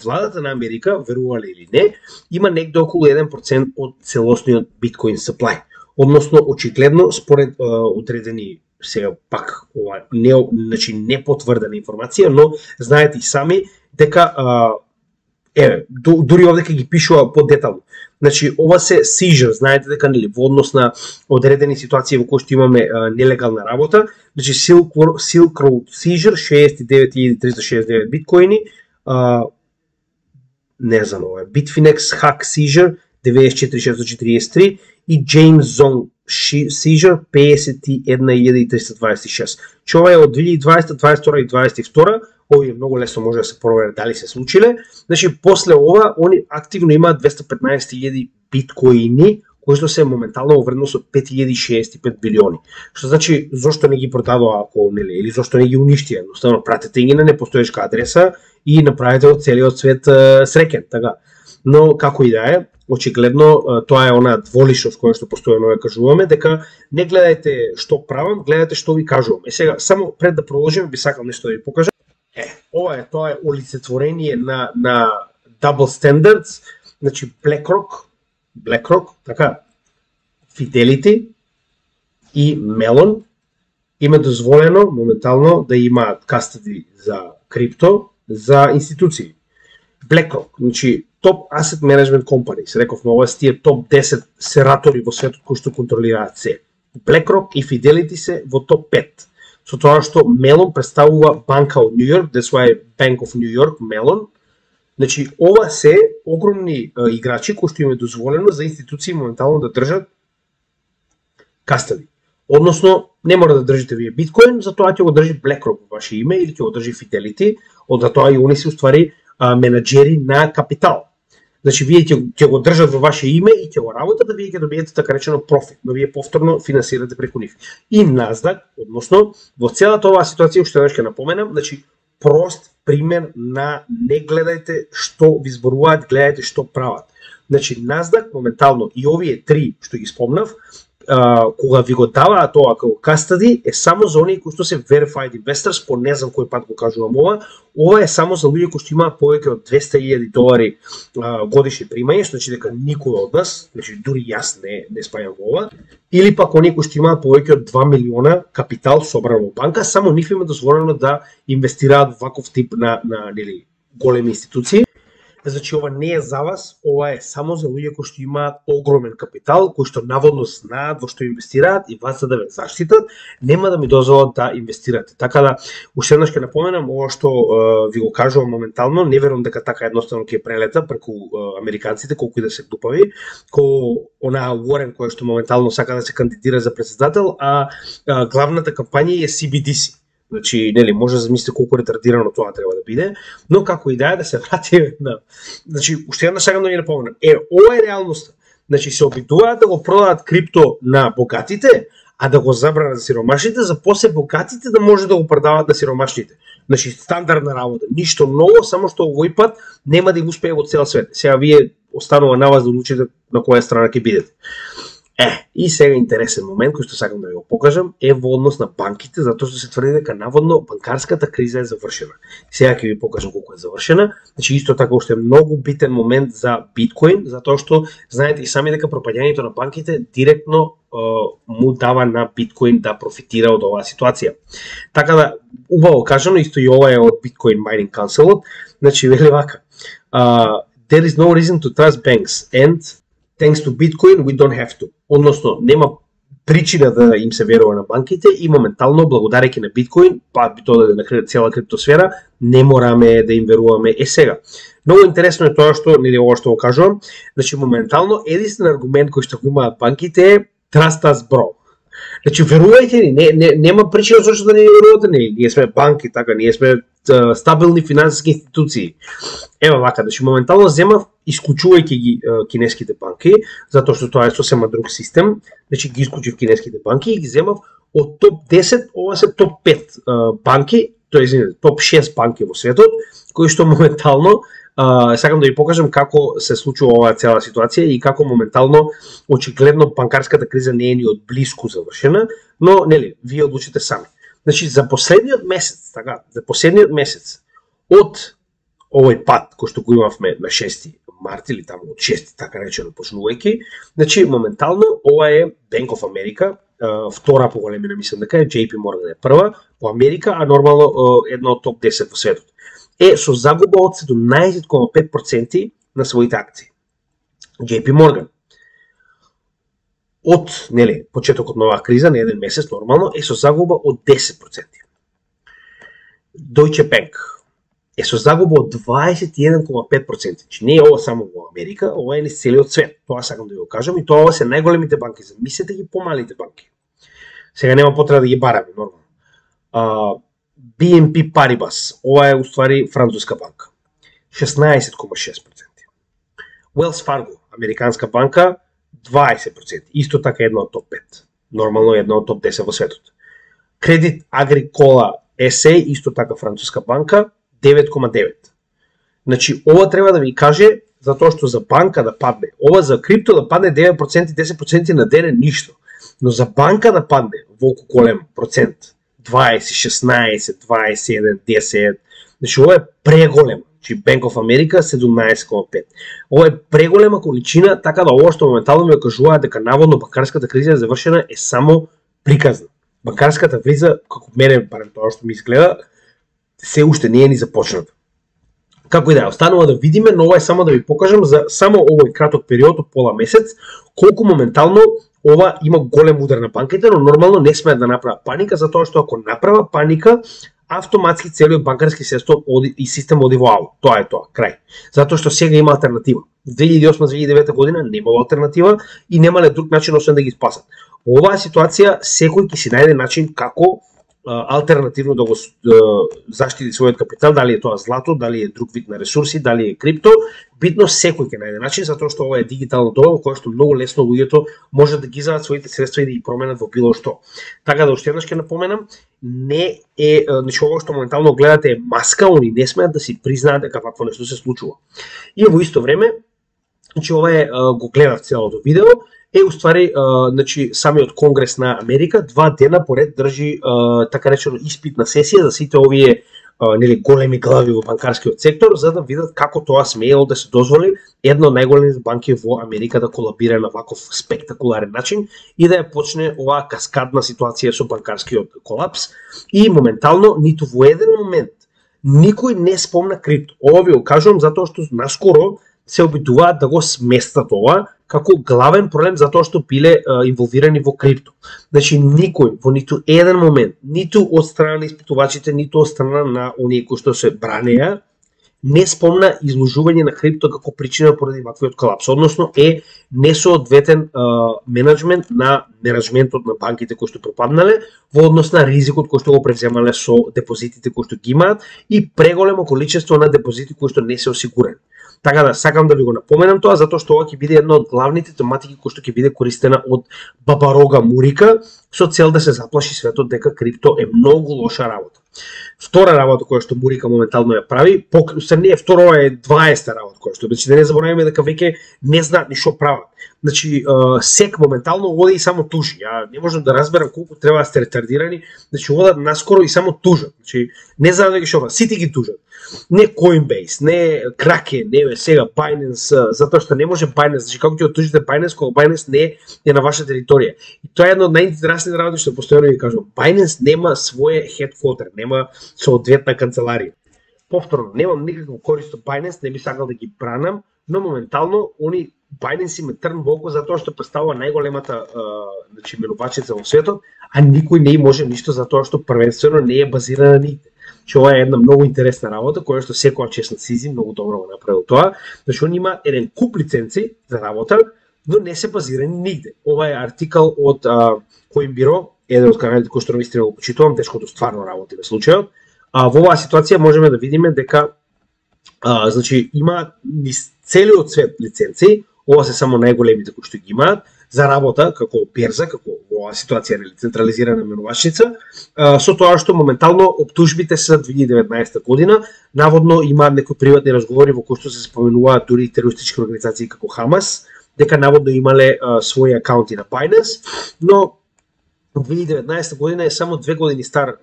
владата на Америка, верувале или не, има негде околу 1% од целосниот биткоин supply. Односно, очигледно, според одредени сега пак ова значи непотврдена информација, но знаете и сами дека дури овде ги пишува подетално. Значи ова се seizure, знаете дека нели во однос на одредени ситуации во кои што имаме нелегална работа, значи Silk Road seizure 69.369 биткоини, не знам ова, Bitfinex hack seizure 94.643 и James Zong seizure 51.326. Че ова е од 2020, 2022 и 2022, овие многу лесно може да се проверат дали се случиле. Значи, после ова, они активно имаат 215.000 биткоини, кои што се моментално во вредност од 5.065 билиони. Што значи, зошто не ги продадоа ако нели, или зошто не ги уништија? Едноставно пратете ги на непостоечка адреса и направете од целиот свет среќен, така. Но како и да е, очигледно тоа е она дволичност која што постојано ја кажуваме, дека не гледајте што правам, гледајте што ви кажувам. Сега само пред да продолжиме би сакал нешто да ви покажам. Ова е тоа е олицетворение на double standards, значи BlackRock, така, Fidelity и Mellon има дозволено моментално да имаат кастади за крипто за институции. BlackRock, значи топ asset management company, се рековме, ова се тие топ 10 сератори во светот кои што контролираат се. BlackRock и Fidelity се во топ 5. Со тоа што Mellon представува банка од Нью Йорк, that's why Bank of New York, Mellon. Значи, ова се огромни играчи кои што им е дозволено за институции моментално да држат кастади. Односно, не мора да држите вие биткоин, затоа ќе го држи BlackRock во ваше име или ќе го држи Fidelity, од затоа и они се уствари менаџери на капитал. Значи, вие ќе го држат во ваше име и ќе го работат, да вие ќе добиете така речено профит, но вие повторно финансирате преку нив. И Nasdaq, односно, во целата оваа ситуација, уште еднаш ќе напоменам, значи, прост пример на не гледајте што ви зборуваат, гледајте што прават. Значи, Nasdaq моментално и овие три што ги спомнав, кога ви го даваат тоа како кастади, е само за оние кои што се verified investors, по не знам кој пат го кажувам ова е само за луѓе кои што имаат повеќе од $200,000 годишни примања, значи дека никој од нас, значи дури јас не спајам во ова, или пак оние кои што имаат повеќе од 2 милиона капитал собран во банка, само нив им е дозволено да инвестираат во ваков тип на големи институции. Значи, ова не е за вас, ова е само за луѓе кои што имаат огромен капитал, кои што наводно знаат во што инвестираат и вас за да ве заштитат, нема да ми дозволат да инвестирате. Така да, уште еднаш ќе напоменам, ова што ви го кажувам моментално, не верувам дека така едноставно ќе прелета преку американците, колку и да се глупави, ко онаа Уорен која што моментално сака да се кандидира за председател, а главната кампања е CBDC. Значи, нели, може да замислите колку ретардирано тоа треба да биде, но како идеја да се врати на... Значи, уште една сакам да ви напоменам. Ова е реалноста. Значи, се обидуваат да го продаат крипто на богатите, а да го забранат за сиромашните, за после богатите да може да го продават на сиромашните. Значи, стандардна работа. Ништо ново, само што овој пат нема да им успее во цел свет. Сега вие останува на вас да одлучите на која страна ќе бидете. И сега интересен момент кој што сакам да ви го покажам е во однос на банките, затоа што се тврди дека наводно банкарската криза е завршена. Сега ќе ви покажам колку е завршена. Значи исто така уште многу битен момент за биткоин, затоа што знаете и сами дека пропаѓањето на банките директно му дава на биткоин да профитира од оваа ситуација. Така да, убаво кажано, исто и ова е од Bitcoin Mining Council, значи вели вака. There is no reason to trust banks and thanks to Bitcoin we don't have to. Односно, нема причина да им се верува на банките и моментално, благодарејќи на биткоин, па би тоа да на цела криптосфера, не мораме да им веруваме сега. Многу интересно е тоа што, нели ова што го кажувам, значи моментално единствен аргумент кој што го имаат банките е trust us bro. Значи верувајте ни, нема причина зашто да не верувате, ние сме банки, така, ние сме стабилни финансиски институции. Ева вака, значи моментално земав исклучувајќи ги кинеските банки, затоа што тоа е сосема друг систем, значи ги исклучив кинеските банки и ги земав од топ 10, ова се топ 5 банки, тоа е топ 6 банки во светот, кои што моментално сакам да ви покажам како се случува оваа цела ситуација и како моментално очигледно банкарската криза не е ни од блиску завршена, но нели вие одлучите сами. Значи за последниот месец, така, од овој пат кој што го имавме на 6 март или таму од 6 така речено почнувајќи, значи моментално ова е Bank of America, втора по големина мислам дека е, JP Morgan е прва по Америка, а нормално една од топ 10 во светот. Со загуба од 17,5% на своите акции. JP Morgan од, нели, почетокот на оваа криза, на еден месец нормално, со загуба од 10%. Deutsche Bank со загуба од 21,5%. Значи не е ова само во Америка, ова е низ целиот свет. Тоа сакам да ви го кажам и тоа се најголемите банки. Замислете ги помалите банки. Сега нема потреба да ги бараме, нормално. BNP Paribas, ова е уствари француска банка, 16,6%. Wells Fargo, американска банка, 20%, исто така една од топ 5, нормално една од топ 10 во светот. Credit Agricole SA, исто така француска банка, 9,9%. Значи, ова треба да ви каже, затоа што за банка да падне, ова за крипто да падне 9%, 10% на ден е ништо, но за банка да падне волку голем процент, 20, 16, 21, 10, Значи ова е преголема. Значи Bank of America 17,5. Ова е преголема количина, така да ова што моментално ми кажуваат дека наводно банкарската криза е завршена е само приказна. Банкарската криза, како мене барем тоа што ми изгледа, се уште не е ни започната. Како и да е, останува да видиме, но ова е само да ви покажам за само овој краток период од пола месец, колку моментално ова има голем удар на банките, но нормално не смеат да направат паника, затоа што ако направа паника, автоматски целиот банкарски систем оди во аут. Тоа е тоа, крај. Затоа што сега има алтернатива. 2008-2009 година немало алтернатива и немале друг начин освен да ги спасат. Оваа ситуација секој ќе си најде начин како алтернативно да го заштити својот капитал, дали е тоа злато, дали е друг вид на ресурси, дали е крипто, битно секој ќе најде начин, затоа што ова е дигитално доба во кое што многу лесно луѓето може да ги изадат своите средства и да ги променат во било што. Така да уште еднаш ќе напоменам, не е, значи ова што моментално гледате е маска, они не смеат да си признаат дека вакво нешто се случува. И во исто време, значи ова е го гледав целото видео, уствари, значи, самиот Конгрес на Америка 2 дена поред држи така речено испитна сесија за сите овие нели големи глави во банкарскиот сектор за да видат како тоа смеело да се дозволи една од најголемите банки во Америка да колабира на ваков спектакуларен начин и да ја почне оваа каскадна ситуација со банкарскиот колапс и моментално ниту во еден момент никој не спомна крипто. Ова ви го кажувам затоа што наскоро се обидуваат да го сместат ова како главен проблем затоа што биле инволвирани во крипто. Значи никој во ниту еден момент, ниту од страна на испитувачите, ниту од страна на оние кои што се бранеа, не спомна изложување на крипто како причина поради ваквиот колапс, односно е несоодветен менеджмент на менеджментот на банките кои што пропаднале во однос на ризикот кој што го превземале со депозитите кои што ги имаат и преголемо количество на депозити кои што не се осигурени. Така да сакам да ви го напоменам тоа затоа што ова ќе биде една од главните тематики кои што ќе биде користена од Бабарога Мурика со цел да се заплаши светот дека крипто е многу лоша работа. Втора работа која што Мурика моментално ја прави, не е втора, ова е 20-та работа која што, значи да не забораваме дека веќе не знаат ни што прават. Значи СЕК моментално оди и само тужи. Ја не можам да разберам колку треба да сте ретардирани, значи одат наскоро и само тужат. Значи не знаат дека што, сите ги тужат. Не Coinbase, не Kraken, не сега Binance, затоа што не може Binance, значи како ќе оттужите Binance кога Binance не е на ваша територија. И тоа е едно од најинтересните работи што постојано ви кажувам. Binance нема своје headquarter, нема соодветна канцеларија. Повторно, немам никаква корист од Binance, не би сакал да ги бранам, но моментално они Binance има трн во око затоа што представува најголемата значи менувачица во светот, а никој не може ништо затоа што првенствено не е базирана нигде. Че ова е една многу интересна работа која што секоја честна Сизи многу добро го направил тоа, значи он има еден куп лиценци за работа, но не се базирани нигде. Ова е артикал од Coinbiro, еден од каналите кој што навистина го почитувам, тешкото стварно работи во случајот. Во оваа ситуација можеме да видиме дека значи има целиот свет лиценци, ова се само најголемите кои што ги имаат за работа како берза, како во оваа ситуација нели централизирана менувачница, со тоа што моментално оптужбите се за 2019 година, наводно има некои приватни разговори во кои што се споменуваат дури терористички организации како Хамас, дека наводно имале своји акаунти на Binance, но 2019 година е само 2 години стар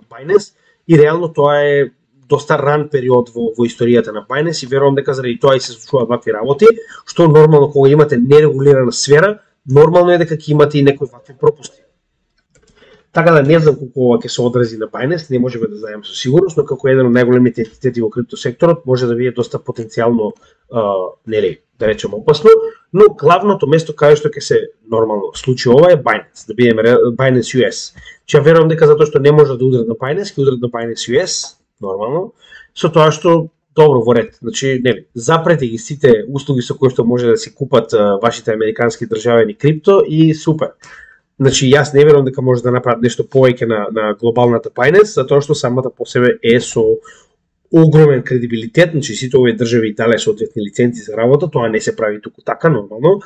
Binance и реално тоа е доста ран период во историјата на Binance и верувам дека заради тоа и се случуваат вакви работи, што нормално кога имате нерегулирана сфера, нормално е дека ќе имате и некои вакви пропусти. Така да не знам колку ова ќе се одрази на Binance, не можеме да знаеме со сигурност, но како еден од најголемите ентитети во криптосекторот може да биде доста потенцијално нели, да речем опасно, но главното место каде што ќе се нормално случи ова е Binance, да бидеме Binance US. Че верувам дека затоа што не може да удрат на Binance, ќе удрат на Binance US, нормално, со тоа што добро во ред. Значи, нели, запрете ги сите услуги со кои што може да се купат вашите американски државени крипто и супер. Значи, јас не верувам дека може да направат нешто повеќе на глобалната Binance, затоа што самата по себе е со огромен кредибилитет, значи сите овие држави дале соодветни лиценци за работа, тоа не се прави туку така нормално.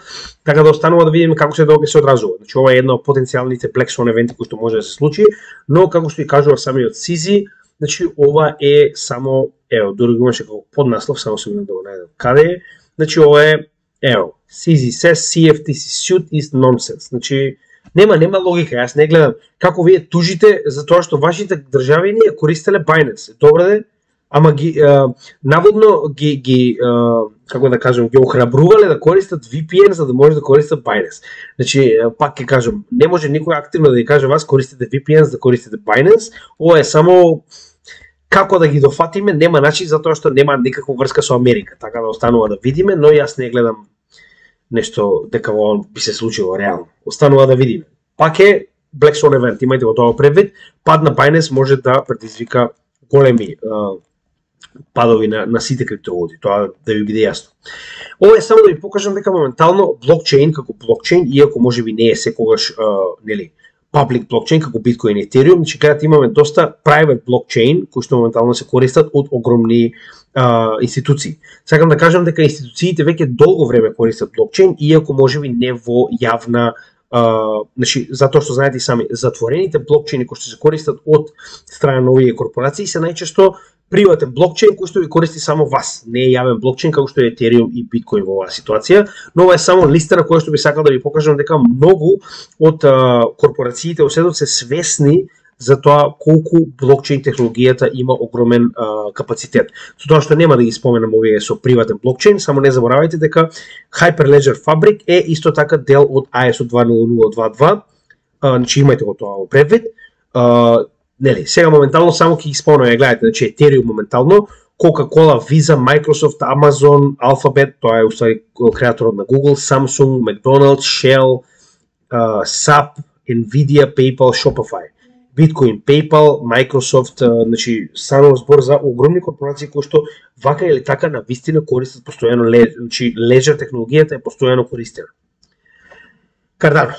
Така да останува да видиме како се ќе се одразува. Значи, ова е една од потенцијалните Black Swan евенти кои што може да се случи, но како што и кажува самиот Сизи, значи ова е само, ево, дури го имаше како поднаслов, само се да го најдам каде е. Значи ова е, ево, Сизи says CFTC suit is nonsense. Значи нема логика, јас не гледам како вие тужите за тоа што вашите држави ја користеле Binance. Добре де, ама ги наводно ги како да кажам, ги охрабрувале да користат VPN за да може да користат Binance. Значи, пак ќе кажам, не може никој активно да ви каже вас користите VPN за да користите Binance, ова е само како да ги дофатиме, нема начин затоа што нема никаква врска со Америка, така да останува да видиме, но јас не гледам нешто дека во би се случило реално. Останува да видиме. Пак е Black Swan event, имајте го тоа предвид, пад на Binance може да предизвика големи падови на сите криптовалути, тоа да ви биде јасно. Ова е само да ви покажам дека моментално блокчейн како блокчейн, иако можеби не е секогаш нели public блокчейн како Bitcoin и Ethereum, значи каде имаме доста private блокчейн кои што моментално се користат од огромни институции. Сакам да кажам дека институциите веќе долго време користат блокчейн, иако можеби не во јавна значи, затоа што знаете и сами, затворените блокчейни кои што се користат од страна на овие корпорации се најчесто приватен блокчейн кој што ви користи само вас, не е јавен блокчейн како што е Ethereum и Bitcoin во оваа ситуација, но ова е само листа на која што би сакал да ви покажам дека многу од корпорациите во светот се свесни за тоа колку блокчейн технологијата има огромен капацитет. Со тоа што нема да ги споменам овие со приватен блокчейн, само не заборавајте дека Hyperledger Fabric е исто така дел од ISO 20022, значи имајте го тоа во предвид. Нели, сега моментално само ќе ги спомнам, гледате, значи Ethereum моментално, Coca-Cola, Visa, Microsoft, Amazon, Alphabet, тоа е уствари креаторот на Google, Samsung, McDonald's, Shell, SAP, Nvidia, PayPal, Shopify. Bitcoin, PayPal, Microsoft, значи станува збор за огромни корпорации кои што вака или така на вистина користат постојано значи Ledger технологијата е постојано користена. Cardano,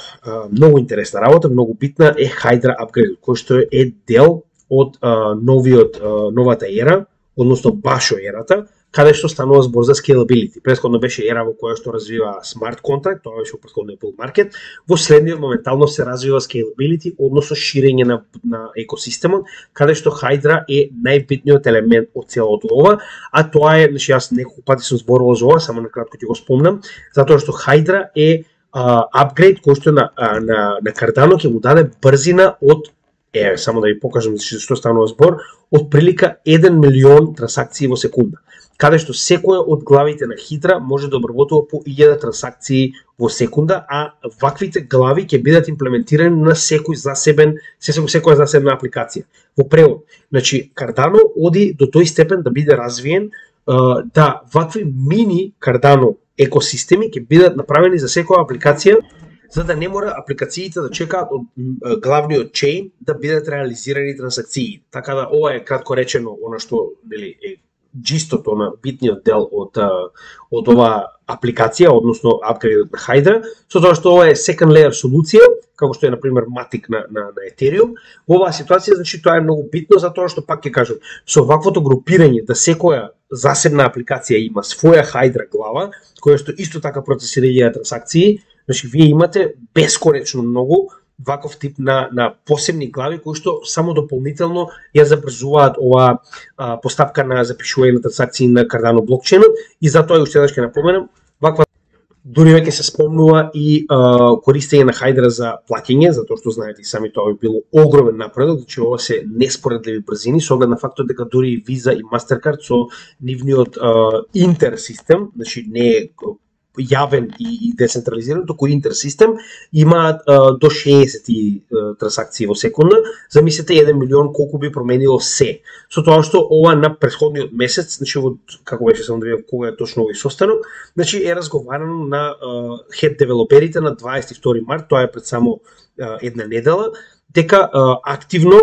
многу интересна работа, многу битна е Hydra апгрейд, кој што е дел од новата ера, односно башо ерата, каде што станува збор за scalability. Претходно беше ера во која што развива смарт контракт, тоа беше во претходниот bull market, во следниот моментално се развива scalability, односно ширење на екосистемот, каде што Hydra е најбитниот елемент од целото ова, а тоа е, значи јас неколку пати сум зборувал за ова, само на кратко ќе го спомнам, затоа што Hydra е апгрейд кој што на Cardano ќе му даде брзина од само да ви покажам што станува збор, од прилика 1 милион трансакции во секунда, каде што секоја од главите на Hydra може да обработува по 1000 трансакции во секунда, а ваквите глави ќе бидат имплементирани на секоја засебна апликација. Во превод, значи Cardano оди до тој степен да биде развиен, да вакви мини Cardano екосистеми ќе бидат направени за секоја апликација, за да не мора апликациите да чекаат од главниот чейн да бидат реализирани трансакции. Така да ова е кратко речено она што нели е џистото на битниот дел од оваа апликација, односно апгрейдот на Hydra, со тоа што ова е second layer солуција, како што е на пример Matic на Ethereum. Во оваа ситуација значи тоа е многу битно затоа што пак ќе кажам, со ваквото групирање да секоја засебна апликација има своја Hydra глава, која што исто така процесира трансакции, значи вие имате бесконечно многу ваков тип на посебни глави кои што само дополнително ја забрзуваат оваа постапка на запишување на трансакции на Cardano блокчейнот и затоа уште еднаш ќе напоменам, ваква дури веќе се спомнува и користење на Hydra за плаќање, затоа што знаете и сами тоа би било огромен напредок, значи ова се неспоредливи брзини со оглед на фактот дека дури и Visa и Mastercard со нивниот интерсистем, значи не е јавен и децентрализиран, току интерсистем, имаат до 60 трансакции во секунда. Замислете 1 милион колку би променило се. Со тоа што ова на претходниот месец, значи како беше само да видам кога е точно овој состанок, значи е разговарано на хед девелоперите на 22 март, тоа е пред само една недела, дека активно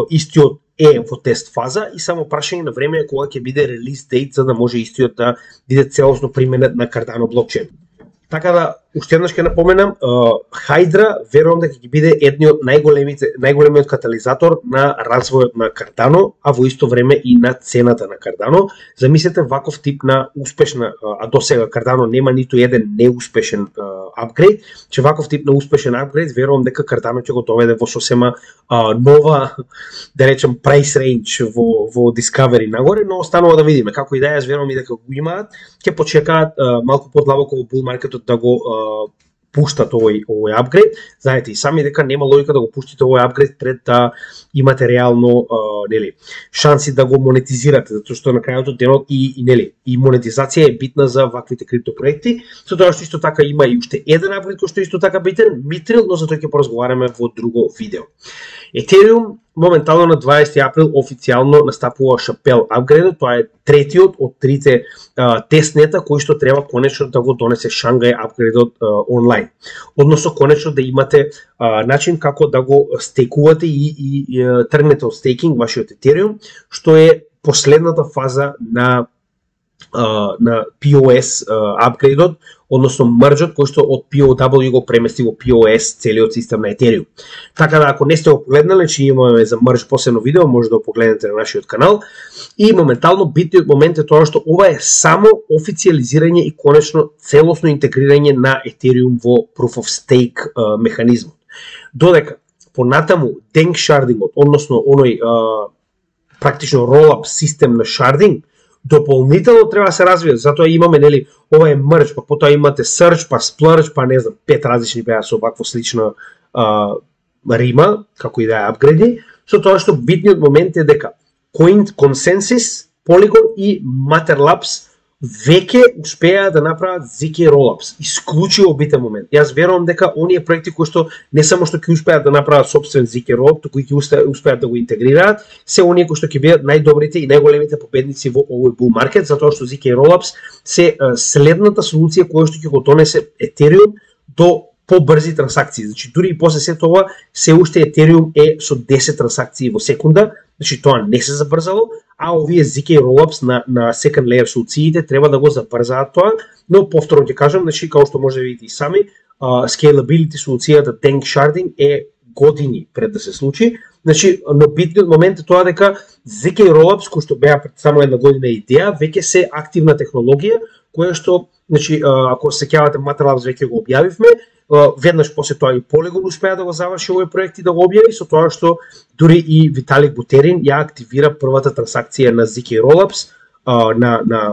истиот е во тест фаза и само прашање на време кога ќе биде релиз дейт за да може истиот да биде целосно применет на Cardano блокчейн. Така да, уште еднаш ќе напоменам, Hydra верувам дека ќе биде едниот најголемиот катализатор на развојот на Cardano, а во исто време и на цената на Cardano. Замислете ваков тип на успешна, а до сега Cardano нема ниту еден неуспешен апгрейд, че ваков тип на успешен апгрейд верувам дека Cardano ќе го доведе во сосема нова, да речем, price range во Discovery нагоре, но останува да видиме. Како и да јас верувам и дека го имаат, ќе почекаат малку подлабоко во bull маркетот да го пуштат овој апгрейд. Знаете и сами дека нема логика да го пуштите овој апгрейд пред да имате реално шанси да го монетизирате, затоа што на крајот од денот и монетизација е битна за ваквите криптопроекти. Со тоа што исто така има и уште еден апгрейд кој што исто така битен, Mithril, но за тоа ќе поразговараме во друго видео. Ethereum моментално на 20 април официјално настапува Шапел апгрейдот, тоа е третиот од трите тестнета кои што треба конечно да го донесе Шангај апгрейдот онлайн. Односно конечно да имате начин како да го стекувате и тргнете од стейкинг вашиот Ethereum, што е последната фаза на POS апгрейдот, односно мрџот кој што од POW го премести во POS целиот систем на Ethereum. Така да ако не сте го погледнале, че имаме за мрџ посебно видео, може да го погледнете на нашиот канал. И моментално битниот момент е тоа што ова е само официализирање и конечно целосно интегрирање на Ethereum во Proof of Stake механизмот. Додека понатаму Dank Shardingот, односно оној практично roll-up систем на sharding, дополнително треба да се развие, затоа имаме ова е мрџ, па потоа имате search, па splurge, па не знам, 5 различни беа со вакво слична рима, како и да е апгрейди, со тоа што битниот момент е дека Consensus, Polygon и Matter Labs веќе успеа да направат ZK Rollups. Исклучиво битен момент. Јас верувам дека оние проекти кои што не само што ќе успеат да направат собствен ZK Rollup, туку и ќе успеат да го интегрираат, се оние кои што ќе бидат најдобрите и најголемите победници во овој bull market, затоа што ZK Rollups се следната солуција која што ќе го донесе Ethereum до побрзи трансакции. Значи дури и после сето ова се уште Ethereum е со 10 трансакции во секунда, значи тоа не се забрзало, а овие ZK Rollups на second layer солуциите треба да го забрзаат тоа, но повторно ќе кажам, значи како што може да видите и сами, scalability солуцијата Dank Sharding е години пред да се случи. Значи, но битниот момент е тоа дека ZK Rollups, кои што беа пред само една година идеја, веќе се активна технологија, која што, значи, ако се сеќавате Matter Labs веќе го објавивме, веднаш после тоа и Polygon успеа да го заврши овој проект и да го објави, со тоа што дури и Виталик Бутерин ја активира првата трансакција на ZK Rollups на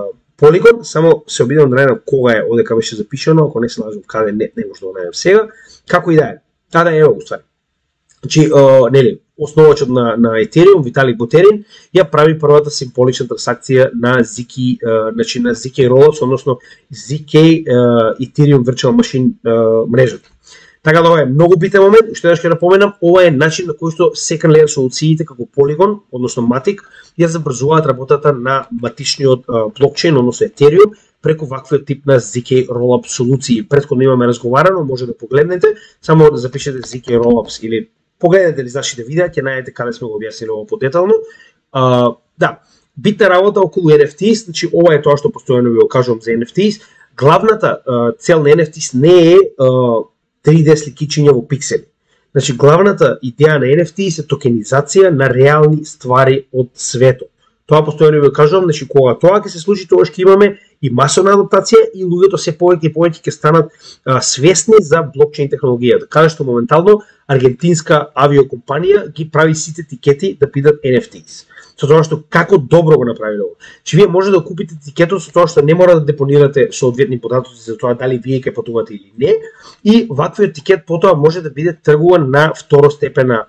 Polygon. Само се обидам да најдам кога е, одека беше запишано, ако не се лажам каде, не може да го најдам сега. Како и да е. Да е го ствари. Значи, основачот на Ethereum, Виталик Бутерин, ја прави првата символична трансакција на ZK, значи на ZK Rollups, односно ZK Ethereum Virtual Machine мрежата. Така да ова е многу битен момент, уште еднаш ќе напоменам, ова е начин на кој што second layer солуциите како Polygon, односно Matic, ја забрзуваат работата на матичниот блокчейн, односно Ethereum, преку ваквиот тип на ZK Rollup солуции. Претходно имаме разговарано, може да погледнете, само да запишете ZK Rollups или погледнете ли нашите видеа, ќе најдете каде сме го објаснили ово подетално. Да, битна работа околу NFTs, значи ова е тоа што постојано ви го кажувам за NFTs. Главната цел на NFTs не е 3D сликичиња во пиксели. Значи главната идеја на NFTs е токенизација на реални ствари од светот. Тоа постојано ви го кажувам, значи кога тоа ќе се случи, тоа ќе имаме и масовна адаптација и луѓето се повеќе и повеќе ќе станат свесни за блокчейн технологијата. Каде што моментално аргентинска авиокомпанија ги прави сите тикети да бидат NFTs. Со тоа што како добро го направиле ова. Че вие може да купите тикетот со тоа што не мора да депонирате соодветни податоци за тоа дали вие ќе патувате или не, и ваквиот тикет потоа може да биде тргуван на второстепена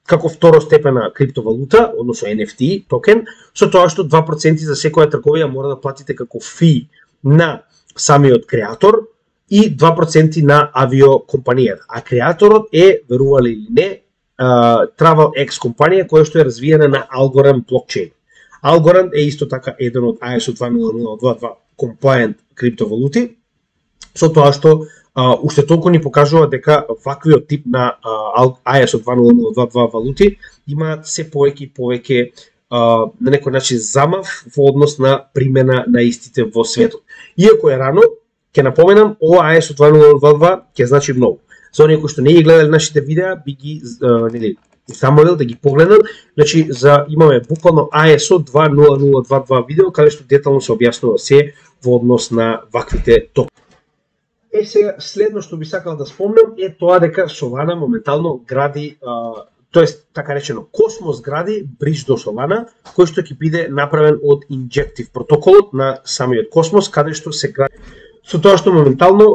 како второстепена криптовалута, односно NFT токен, со тоа што 2% за секоја трговија мора да платите како фи на самиот креатор и 2% на авиокомпанијата. А креаторот е, верували или не, TravelX компанија која што е развиена на Algorand блокчейн. Algorand е исто така еден од ISO 20022 compliant криптовалути, со тоа што уште толку ни покажува дека ваквиот тип на ISO 20022 валути имаат се повеќе и повеќе на некој начин замав во однос на примена на истите во светот. Иако е рано, ќе напоменам, ова ISO 20022 ќе значи многу. За оние кои што не ги гледале нашите видеа, би ги замолил да ги погледнат. Значи, имаме буквално ISO 20022 видео, каде што детално се објаснува се во однос на ваквите токени. Сега, следно што би сакал да спомнам е тоа дека Solana моментално гради, тоест така речено Космос гради бридж до Solana, кој што ќе биде направен од Injective протоколот на самиот Космос, каде што се гради. Со тоа што моментално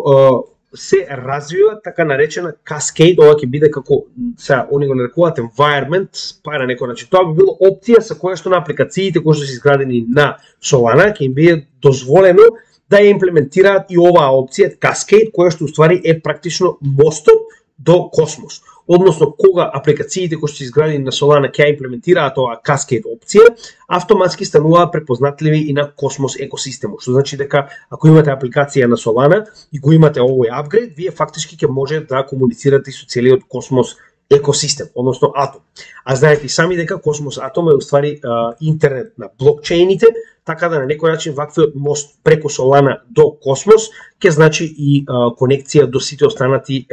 се развива така наречена Cascade, ова ќе биде како сега они го нарекуваат environment, па на некој начин. Тоа би било опција со која што на апликациите кои што се изградени на Solana ќе им биде дозволено да ја имплементираат и оваа опција Cascade, која што уствари е практично мостот до Космос. Односно, кога апликациите кои што се изградени на Solana ќе имплементираат оваа Cascade опција, автоматски стануваат препознатливи и на Космос екосистемот. Што значи дека ако имате апликација на Solana и го имате овој апгрейд, вие фактички ќе може да комуницирате со целиот Космос екосистем, односно Атом. А знаете и сами дека Космос Атом е уствари интернет на блокчейните, така да на некој начин ваквиот мост преку Solana до Космос ќе значи и конекција до сите останати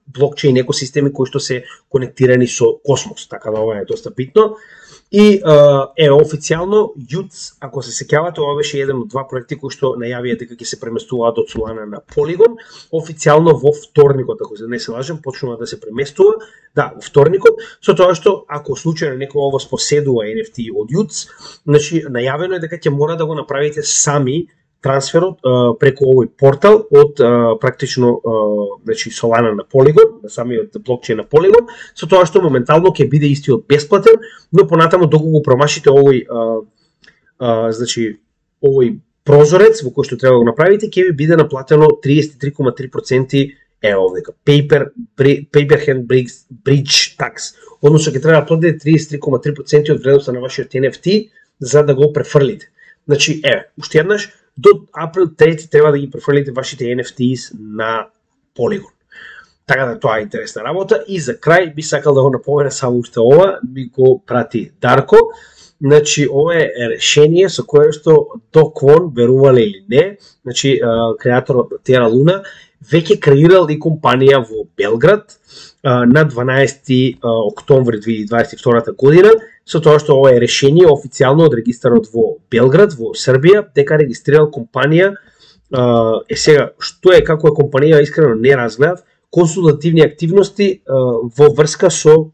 блокчейн екосистеми кои што се конектирани со Космос, така да ова е доста битно. И официјално JUTS, ако се сеќавате, ова беше еден од два проекти кои што најавија дека ќе се преместуваат од Solana на Polygon. Официјално во вторникот, ако не се лажем, почнува да се преместува. Да, во вторникот, со тоа што ако случајно некој ово поседува NFT од JUTS, значи најавено е дека ќе мора да го направите сами трансферот преку овој портал од практично значи Solana на Polygon, на самиот блокчейн на Polygon, со тоа што моментално ќе биде истиот бесплатен, но понатаму доколку го промашите овој значи овој прозорец во кој што треба да го направите, ќе ви биде наплатено 33,3% овдека Paperhand Bridge Tax. Односно ќе треба да платите 33,3% од вредноста на вашиот NFT за да го префрлите. Значи, уште еднаш, до април 3 треба да ги префрлите вашите NFTs на Polygon. Така да тоа е интересна работа. И за крај би сакал да го напомена само уште ова, ми го прати Дарко. Значи, ова е решение со кое што Do Kwon, верувале или не, значи креаторот на Terra Luna, веќе креирал и компанија во Белград на 12 октомври 2022 година, со тоа што ова е решение официјално од регистарот во Белград, во Србија, дека регистрирал компанија, сега, што е, како е компанија, искрено не разгледав, консултативни активности во врска со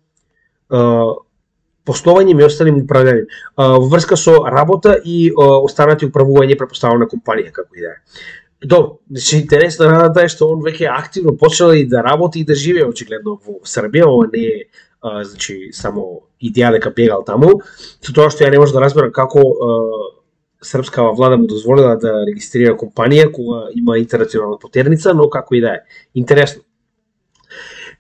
пословање и останим управљање, во врска со работа и останати управување препоставена компанија, како и да е. Добро, значи интересна работа е што он веќе активно почнал и да работи и да живее очигледно во Србија, ова не е значи само идеја дека бегал таму, со тоа што ја не можам да разберам како српска влада му дозволила да регистрира компанија кога има интернационална потерница, но како и да е. Интересно.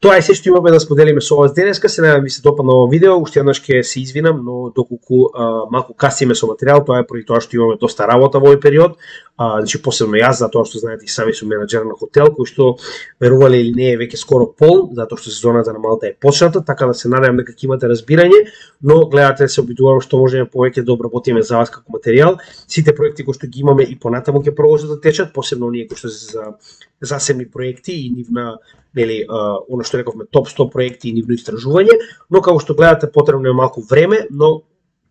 Тоа е се што имаме да споделиме со вас денеска. Се надевам ви се допадна ова видео. Уште еднаш ќе се извинам, но доколку малку касиме со материјал, тоа е поради тоа што имаме доста работа во овој период. Значи посебно јас, затоа што знаете и сами сум менаџер на хотел, кој што верувале или не е веќе скоро пол, затоа што сезоната на Малта е почната, така да се надевам дека ќе имате разбирање, но гледате се обидувам што можеме повеќе да обработиме за вас како материјал. Сите проекти кои што ги имаме и понатаму ќе продолжат да течат, посебно оние кои што се за засебни проекти и нивна нели она што рековме топ 100 проекти и нивно истражување, но како што гледате потребно е малку време, но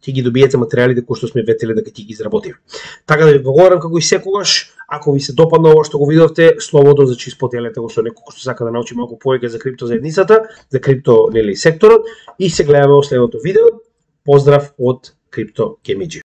ќе ги добиете материјалите кои што сме ветели дека ќе ги изработиме. Така да ви благодарам како и секогаш. Ако ви се допадна ова што го видовте, слободно зачи споделете го со некој кој што сака да научи малку повеќе за крипто заедницата, за крипто нели секторот и се гледаме во следното видео. Поздрав од Crypto KMG.